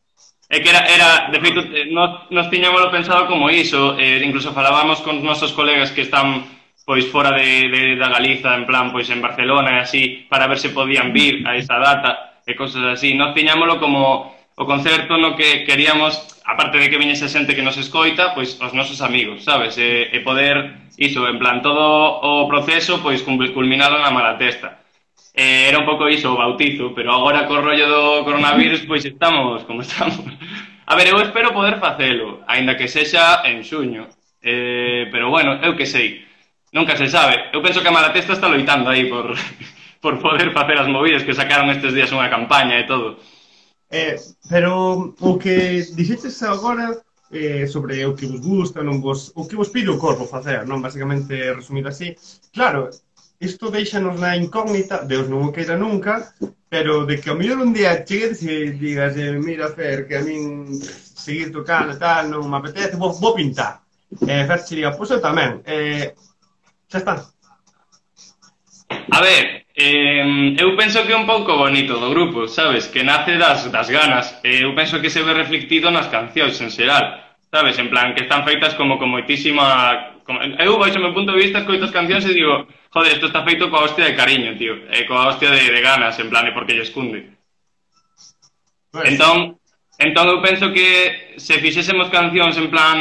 É que era, era de feito, nos, nos tiñámoslo pensado como iso, eh, incluso falábamos con nosos colegas que están pois fora de, de, da Galiza, en plan, pois en Barcelona e así, para ver se podían vir a esa data e cosas así. Nos tiñámoslo como o concerto no que queríamos, aparte de que viñese xente que nos escoita, pois os nosos amigos, sabes? E, e poder, iso, en plan, todo o proceso, pois culminado na Malatesta. Eh, era un pouco iso, o bautizo, pero agora co rollo do coronavirus, pois estamos como estamos. A ver, eu espero poder facelo, aínda que sexa en xuño. Eh, pero bueno, eu que sei, nunca se sabe. Eu penso que a Malatesta está loitando aí por, por poder facer as movidas, que sacaron estes días unha campaña e todo. Eh, pero o que dixetes agora eh, sobre o que vos gusta, non vos, o que vos pide o corpo facer, non? Basicamente, resumido así, claro, isto deixanos na incógnita, Deus non o queira nunca, pero de que ao mellor un día chegues e digas, eh, mira, Fer, que a min seguir tocando e tal, non me apetece, vou, vou pintar. E eh, Fer se diga, pois eu tamén. Eh, xa está. A ver, eh, eu penso que é un pouco bonito do grupo, sabes? Que nace das, das ganas. Eh, eu penso que se ve reflectido nas cancións en xeral, sabes? En plan, que están feitas como con moitísima... Como, eu, baixo o meu punto de vista, escoito as cancións e digo, joder, isto está feito coa hostia de cariño, tío, e coa hostia de, de ganas, en plan, e porque lle escunde. Pues... Entón, entón eu penso que se fixésemos cancións en plan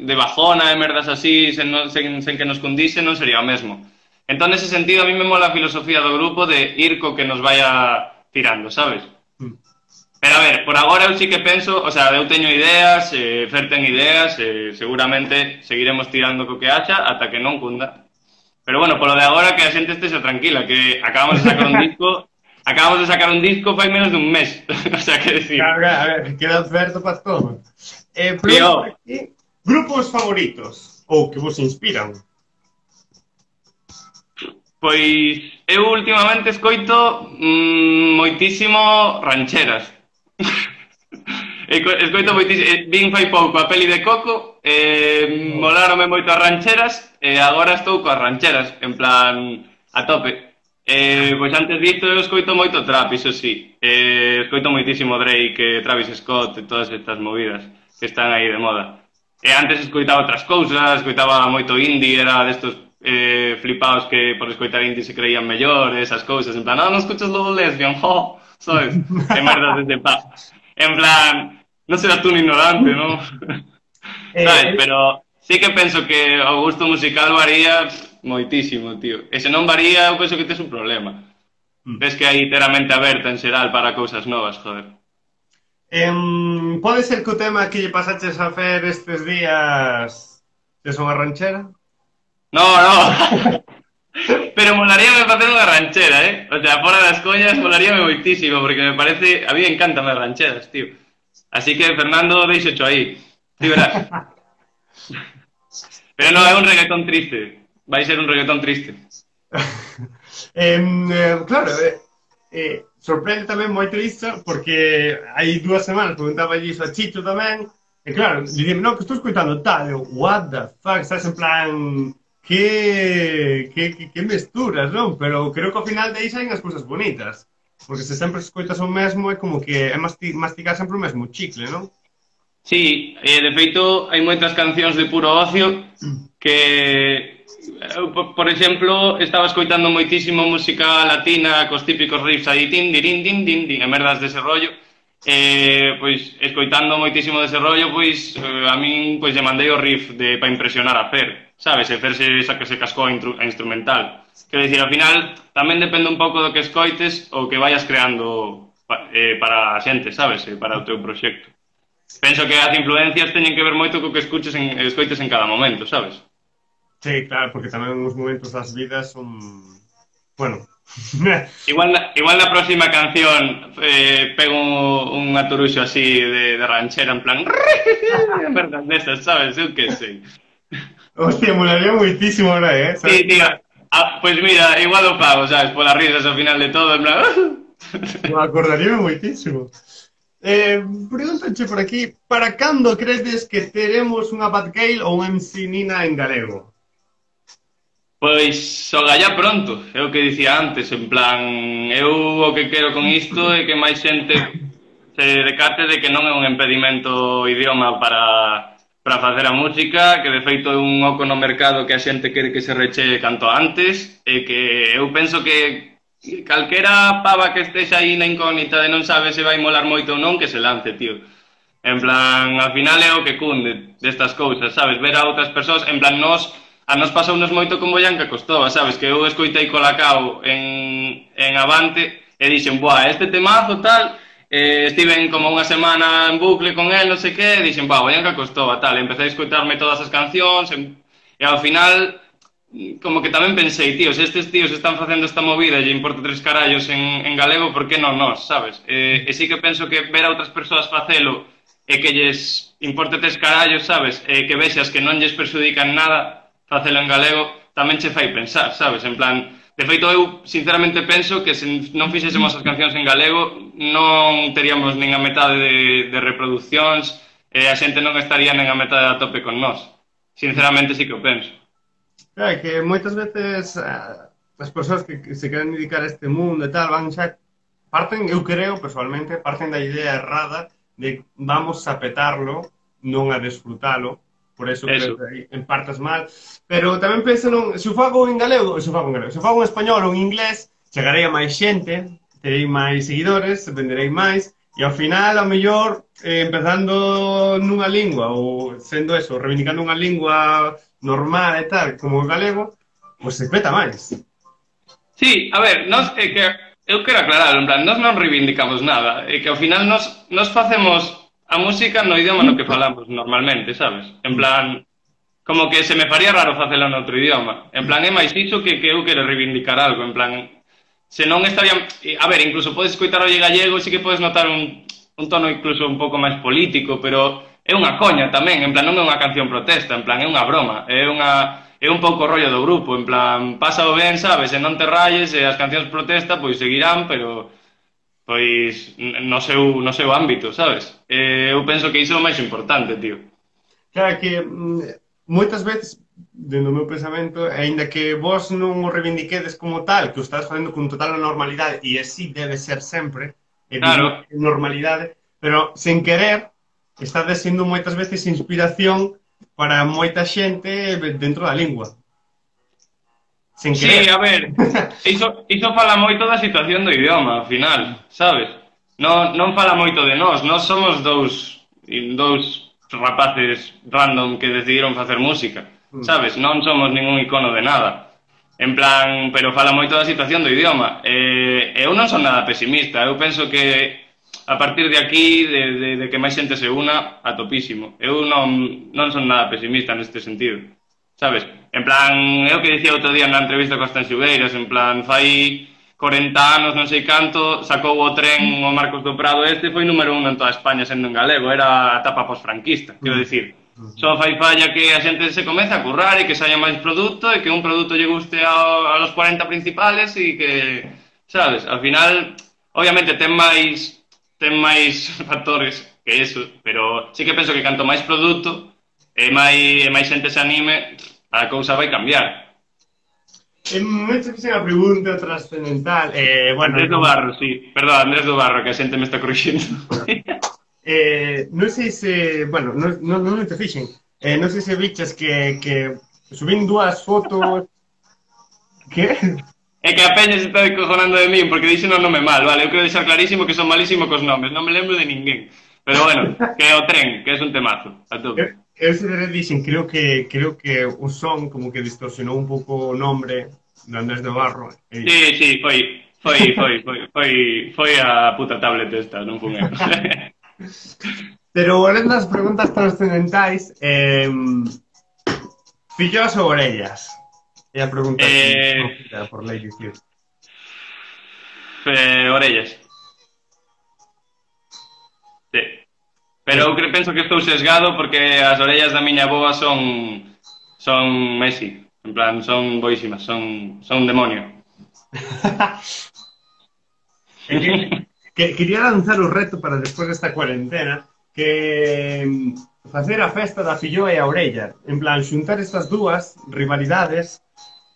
de bajona e merdas así, sen, sen, sen que nos cundise, non sería o mesmo. Entón, nese sentido, a mí me mola a filosofía do grupo de ir co que nos vaya tirando, sabes? Mm. Pero a ver, por agora eu sí que penso, o sea, eu teño ideas, eh, Fer ten ideas, eh, seguramente seguiremos tirando co que haxa ata que non cunda. Pero bueno, polo de agora que a xente estexa tranquila, que acabamos de sacar un disco, acabamos de sacar un disco fai menos dun mes, o sea, que decir... Claro, a ver, queda aberto para todo. Eh, pero aquí, grupos favoritos, ou que vos inspiran? Pois, eu últimamente escoito mmm, moitísimo rancheras. Escoito moitísimo, vin fai pouco a peli de Coco, eh, molarome moito as rancheras e agora estou coas rancheras, en plan a tope. Eh, pois antes disto eu escoito moito trap, iso sí. Eh, escoito moitísimo Drake, Travis Scott e todas estas movidas que están aí de moda. E antes escoitaba outras cousas, escoitaba moito indie, era destos eh, flipados que por escoitar indie se creían mellor, esas cousas, en plan, ah, non escuchas logo lesbian, jo, sabes? Que merdas desde pa. En plan, non serás tú un ignorante, non? Eh, sabes, pero sí que penso que o gusto musical varía moitísimo, tío. E se non varía, eu penso que tes un problema. Mm. Ves que hai teramente aberta en xeral para cousas novas, joder. Um, pode ser que o tema que lle pasaches a Fer estes días que son a ranchera? No, no. Pero molaríame facer unha ranchera, eh? O sea, fora das coñas molaríame moitísimo, porque me parece... A mí me encantan as rancheras, tío. Así que, Fernando, deixo cho aí. Ti verás. Pero non, é un reggaetón triste. Vai ser un reggaetón triste. eh, eh, claro, eh, eh, sorprende tamén moito isto, porque hai dúas semanas preguntaba iso a Chicho tamén, e claro, dime, non, que estou escoitando tal, eu, what the fuck, estás en plan... Que, que, que, que mesturas, non? Pero creo que ao final de aí saen as cousas bonitas. Porque se sempre escoitas o mesmo é como que é masti mastigar sempre o mesmo chicle, non? Sí, e de feito hai moitas cancións de puro ocio que, por, por exemplo, estaba escoitando moitísimo música latina cos típicos riffs aí, tin, dirin, din, din, din, e merdas dese rollo. eh, pois, escoitando moitísimo dese rollo, pois, eh, a min, pois, lle mandei o riff de, para impresionar a Fer, sabes, e Fer se, que se cascou a, intru, a instrumental. Quero dicir, ao final, tamén depende un pouco do que escoites ou que vayas creando eh, para a xente, sabes, eh, para o teu proxecto. Penso que as influencias teñen que ver moito co que escuches en, escoites en cada momento, sabes? Sí, claro, porque tamén os momentos das vidas son... Bueno... igual, na, igual na próxima canción eh, pego un, un aturuxo así de, de ranchera, en plan... verdad, desas, sabes? Eu que sei. Hostia, molaría moitísimo ahora, eh? ¿Sabes? Sí, tío. Ah, pues mira, igual o pago, sabes? Por las risas ao final de todo, en plan... Me acordaría moitísimo. Eh, pregúntache por aquí, para cando credes que teremos unha Bad Gale ou unha M C Nina en galego? Pois, o gallá pronto, é o que dicía antes, en plan, eu o que quero con isto é que máis xente se decate de que non é un impedimento o idioma para, para facer a música, que de feito é un oco no mercado que a xente quere que se rechee canto antes, e que eu penso que calquera pava que estexa aí na incógnita de non sabe se vai molar moito ou non, que se lance, tío. En plan, al final é o que cunde destas cousas, sabes? Ver a outras persoas, en plan, nós... A nos pasounos moito con Boyanca Costova, sabes? Que eu escoitei Colacao en, en Avante e dixen, buah, este temazo tal, eh, estiven como unha semana en bucle con el, non sei que, e dixen, buah, Boyanca Costova tal, e empecé a escoitarme todas as cancións, e, e ao final, como que tamén pensei, tío, se estes tíos están facendo esta movida e lle importa tres carallos en, en galego, por que non nós, sabes? E, e sí que penso que ver a outras persoas facelo e que lles importe tres carallos, sabes? E que vexas que non lles perjudican nada facelo en galego, tamén che fai pensar, sabes? En plan, de feito, eu sinceramente penso que se non fixésemos as cancións en galego non teríamos nin a metade de, de reproduccións e a xente non estaría nin a metade a tope con nós. Sinceramente, sí que o penso. Claro, que moitas veces uh, as persoas que, que se queren dedicar a este mundo e tal, van xa... Parten, eu creo, personalmente, parten da idea errada de vamos a petarlo, non a desfrutalo. Por eso, eso. Que en partes mal. Pero tamén penso, non, se o fago en galego, se o fago en galego, se o fago en español ou en inglés, chegarei a máis xente, terei máis seguidores, venderei máis, e ao final, ao mellor, eh, empezando nunha lingua, ou sendo eso, reivindicando unha lingua normal e tal, como o galego, pois se peta máis. Sí, a ver, nos, é que eu quero aclarar, en plan, nós non reivindicamos nada, é que ao final nos, nos facemos a música no idioma no que falamos normalmente, sabes? En plan, como que se me faría raro facelo en outro idioma. En plan, é máis iso que, que eu quero reivindicar algo. En plan, se non estaría... A ver, incluso podes escoitar o gallego e sí que podes notar un, un tono incluso un pouco máis político, pero é unha coña tamén. En plan, non é unha canción protesta, en plan, é unha broma. É unha... É un pouco rollo do grupo, en plan, pásao ben, sabes? E non te rayes, e as cancións protesta, pois seguirán, pero... pois no seu, no seu ámbito, sabes? Eh, eu penso que iso é o máis importante, tío. Claro que mm, moitas veces, dentro do meu pensamento, aínda que vos non o reivindiquedes como tal, que o estás facendo con total normalidade, e así debe ser sempre, é claro. Normalidade, pero sen querer, estades sendo moitas veces inspiración para moita xente dentro da lingua. Sin sí, a ver, iso, iso fala moito da situación do idioma, ao final, sabes? Non, non fala moito de nós, nós somos dous, dous rapaces random que decidiron facer música, sabes? Non somos ningún icono de nada. En plan, pero fala moito da situación do idioma. E, eu non son nada pesimista, eu penso que a partir de aquí, de, de, de que máis xente se una, a topísimo. Eu non, non son nada pesimista neste sentido. Sabes? En plan, é o que dicía outro día na entrevista con as Tanxugueiras, en plan, fai corenta anos, non sei canto, sacou o tren o Marcos do Prado este, foi número un en toda España sendo en galego, era a etapa posfranquista, quero dicir. Só fai falla que a xente se comece a currar e que saia máis produto e que un produto lle guste a, a los cuarenta principales e que, sabes, ao final, obviamente ten máis, ten máis factores que eso, pero sí que penso que canto máis produto e máis, e máis xente se anime, a cousa vai cambiar. Eh, me che fixen a pregunta trascendental. Eh, bueno, Andrés do Barro, sí. Perdón, Andrés do Barro, que a xente me está corrixindo. eh, non sei se... Bueno, non, non, non te fixen. Eh, non sei se bichas que, que subín dúas fotos... Que? É que a peña se está cojonando de min porque dixen o nome mal, vale? Eu quero deixar clarísimo que son malísimo cos nomes, non me lembro de ninguén. Pero bueno, que é o tren, que é un temazo, a Eu, tope. eu se de dicen, creo que creo que o son como que distorsionou un pouco o nombre de Andrés de Barro. E... Sí, sí, foi, foi, foi, foi, foi, foi a puta tablet esta, non fun eu. Pero volvendo ás preguntas trascendentais, eh, fillos ou orellas? É a pregunta eh, que por Lady Clear. eh, orellas. Sí. Pero eu cre- penso que estou sesgado porque as orellas da miña boa son son Messi. En plan, son boísimas, son, son un demonio. que, que, quería lanzar o reto para despois desta cuarentena que mm, facer a festa da filloa e a orella. En plan, xuntar estas dúas rivalidades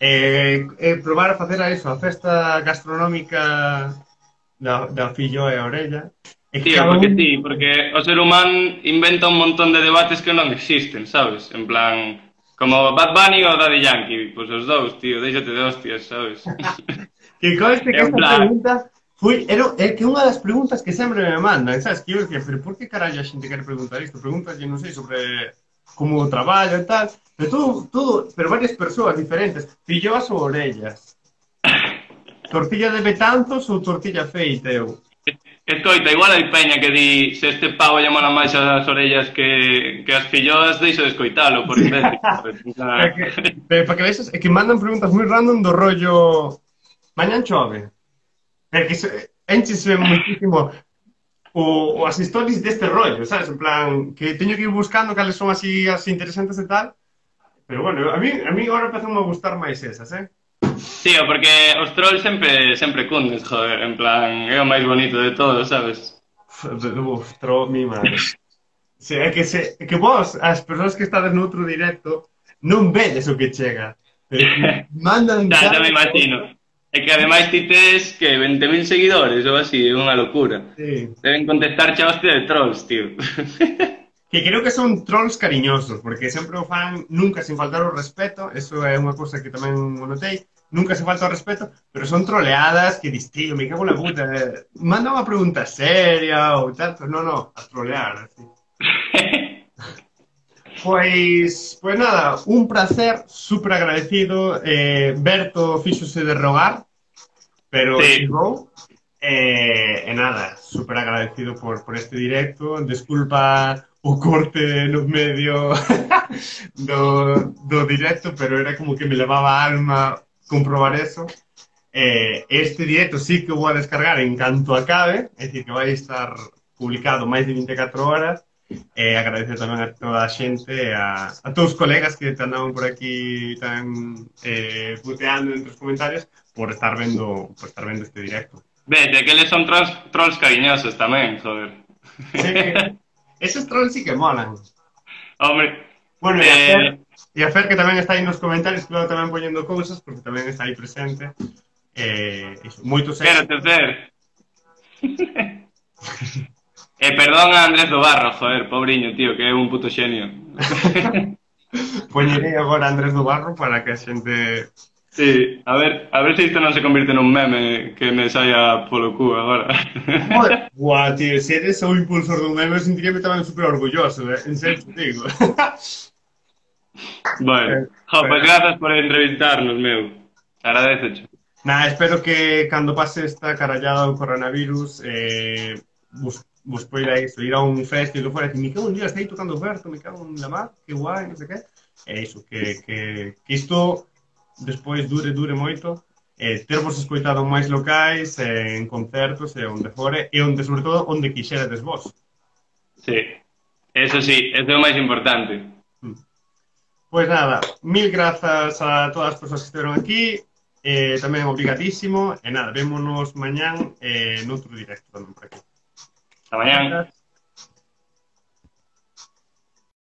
e, e probar a facer a eso, a festa gastronómica da, da filloa e a orella. E que Tío, cada porque un... sí, porque o ser humano inventa un montón de debates que non existen, sabes? En plan, como Bad Bunny ou Daddy Yankee, pois os dous, tío, déxate de hostias, sabes? Que conste que En esta plan, pregunta foi, era, é que unha das preguntas que sempre me mandan, sabes? Que eu decía, pero por que carallo a xente quere preguntar isto? Pregúntalle, non sei, sobre como o traballo e tal, pero todo, todo, pero varias persoas diferentes, filloas ou orellas, tortilla de betanzos ou tortilla feita, eu. escoita, igual hai peña que di se este pavo lle mola máis as orellas que, que as filloas, deixo de escoitalo, por imbécil, sabes? O sea, Para que, pero para que vexas, é que mandan preguntas moi random do rollo mañan chove. É que se, enchese muchísimo o, o as stories deste rollo, sabes? En plan, que teño que ir buscando cales son así as interesantes e tal. Pero bueno, a mí, a mí agora empezan a gustar máis esas, eh? tío, porque os trolls sempre sempre cundes, joder, en plan, é o máis bonito de todo, sabes? Uf, tro, mi madre. Se, é que, se, é que vos, as persoas que estades no outro directo, non vedes o que chega. Pero que mandan... Xa, xa me imagino. É que ademais ti tes que veinte mil seguidores ou así, é unha locura. Sí. Deben contestar xa hostia de trolls, tío. Que creo que son trolls cariñosos, porque sempre o fan nunca sin faltar o respeto, eso é unha cousa que tamén o notei, nunca se falta o respeto, pero son troleadas que dis, tío, me cago en la puta, eh, manda unha pregunta seria ou tal, pero non, non, a trolear, así. Pois, pois nada, un placer, super agradecido, eh, Berto fíxose de rogar, pero Sí. chegou, eh, e nada, super agradecido por, por este directo, desculpa o corte no medio do, do directo, pero era como que me levaba a alma comprobar eso. Eh, este directo sí que o vou a descargar en canto acabe, é dicir, que vai estar publicado máis de vinte e catro horas. E agradecer tamén a toda a xente, a, a todos os colegas que te andaban por aquí tan eh, puteando entre os comentarios por estar vendo por estar vendo este directo. Vete, que eles son trolls, trolls cariñosos tamén, joder. Sí, esos trolls sí que molan. Hombre, Bueno, e a eh, Fer, e a Fer que tamén está aí nos comentarios, claro, tamén poñendo cousas, porque tamén está aí presente. Eh, iso, moitos quero éxitos. ter. Eh, perdón a Andrés do Barro, joder, pobriño, tío, que é un puto xenio. Poñerei agora a Andrés do Barro para que a xente... Sí, a ver, a ver se isto non se convirte nun meme que me saia polo cu agora. Joder, guau, tío, se eres o impulsor dun meme, eu sentiríame tamén super orgulloso, eh? En serio te digo. Bueno, jo, pues grazas por entrevistarnos, meu. Agradececho. Nada, espero que cando pase esta carallada do coronavirus eh, vos, vos poida iso, ir a un festival fora e me cago un día, está aí tocando Berto, me cago en la mar, que guai, non sei que. E iso, que, que, que isto despois dure, dure moito, eh, tervos escoitado en máis locais, eh, en concertos, e onde fore, e onde, sobre todo, onde quixerades vos. Sí, eso sí, eso é o máis importante. Pois nada, mil grazas a todas as persoas que estiveron aquí, eh, tamén obrigadísimo, e nada, vémonos mañán eh, noutro directo tamén por aquí. Hasta mañán.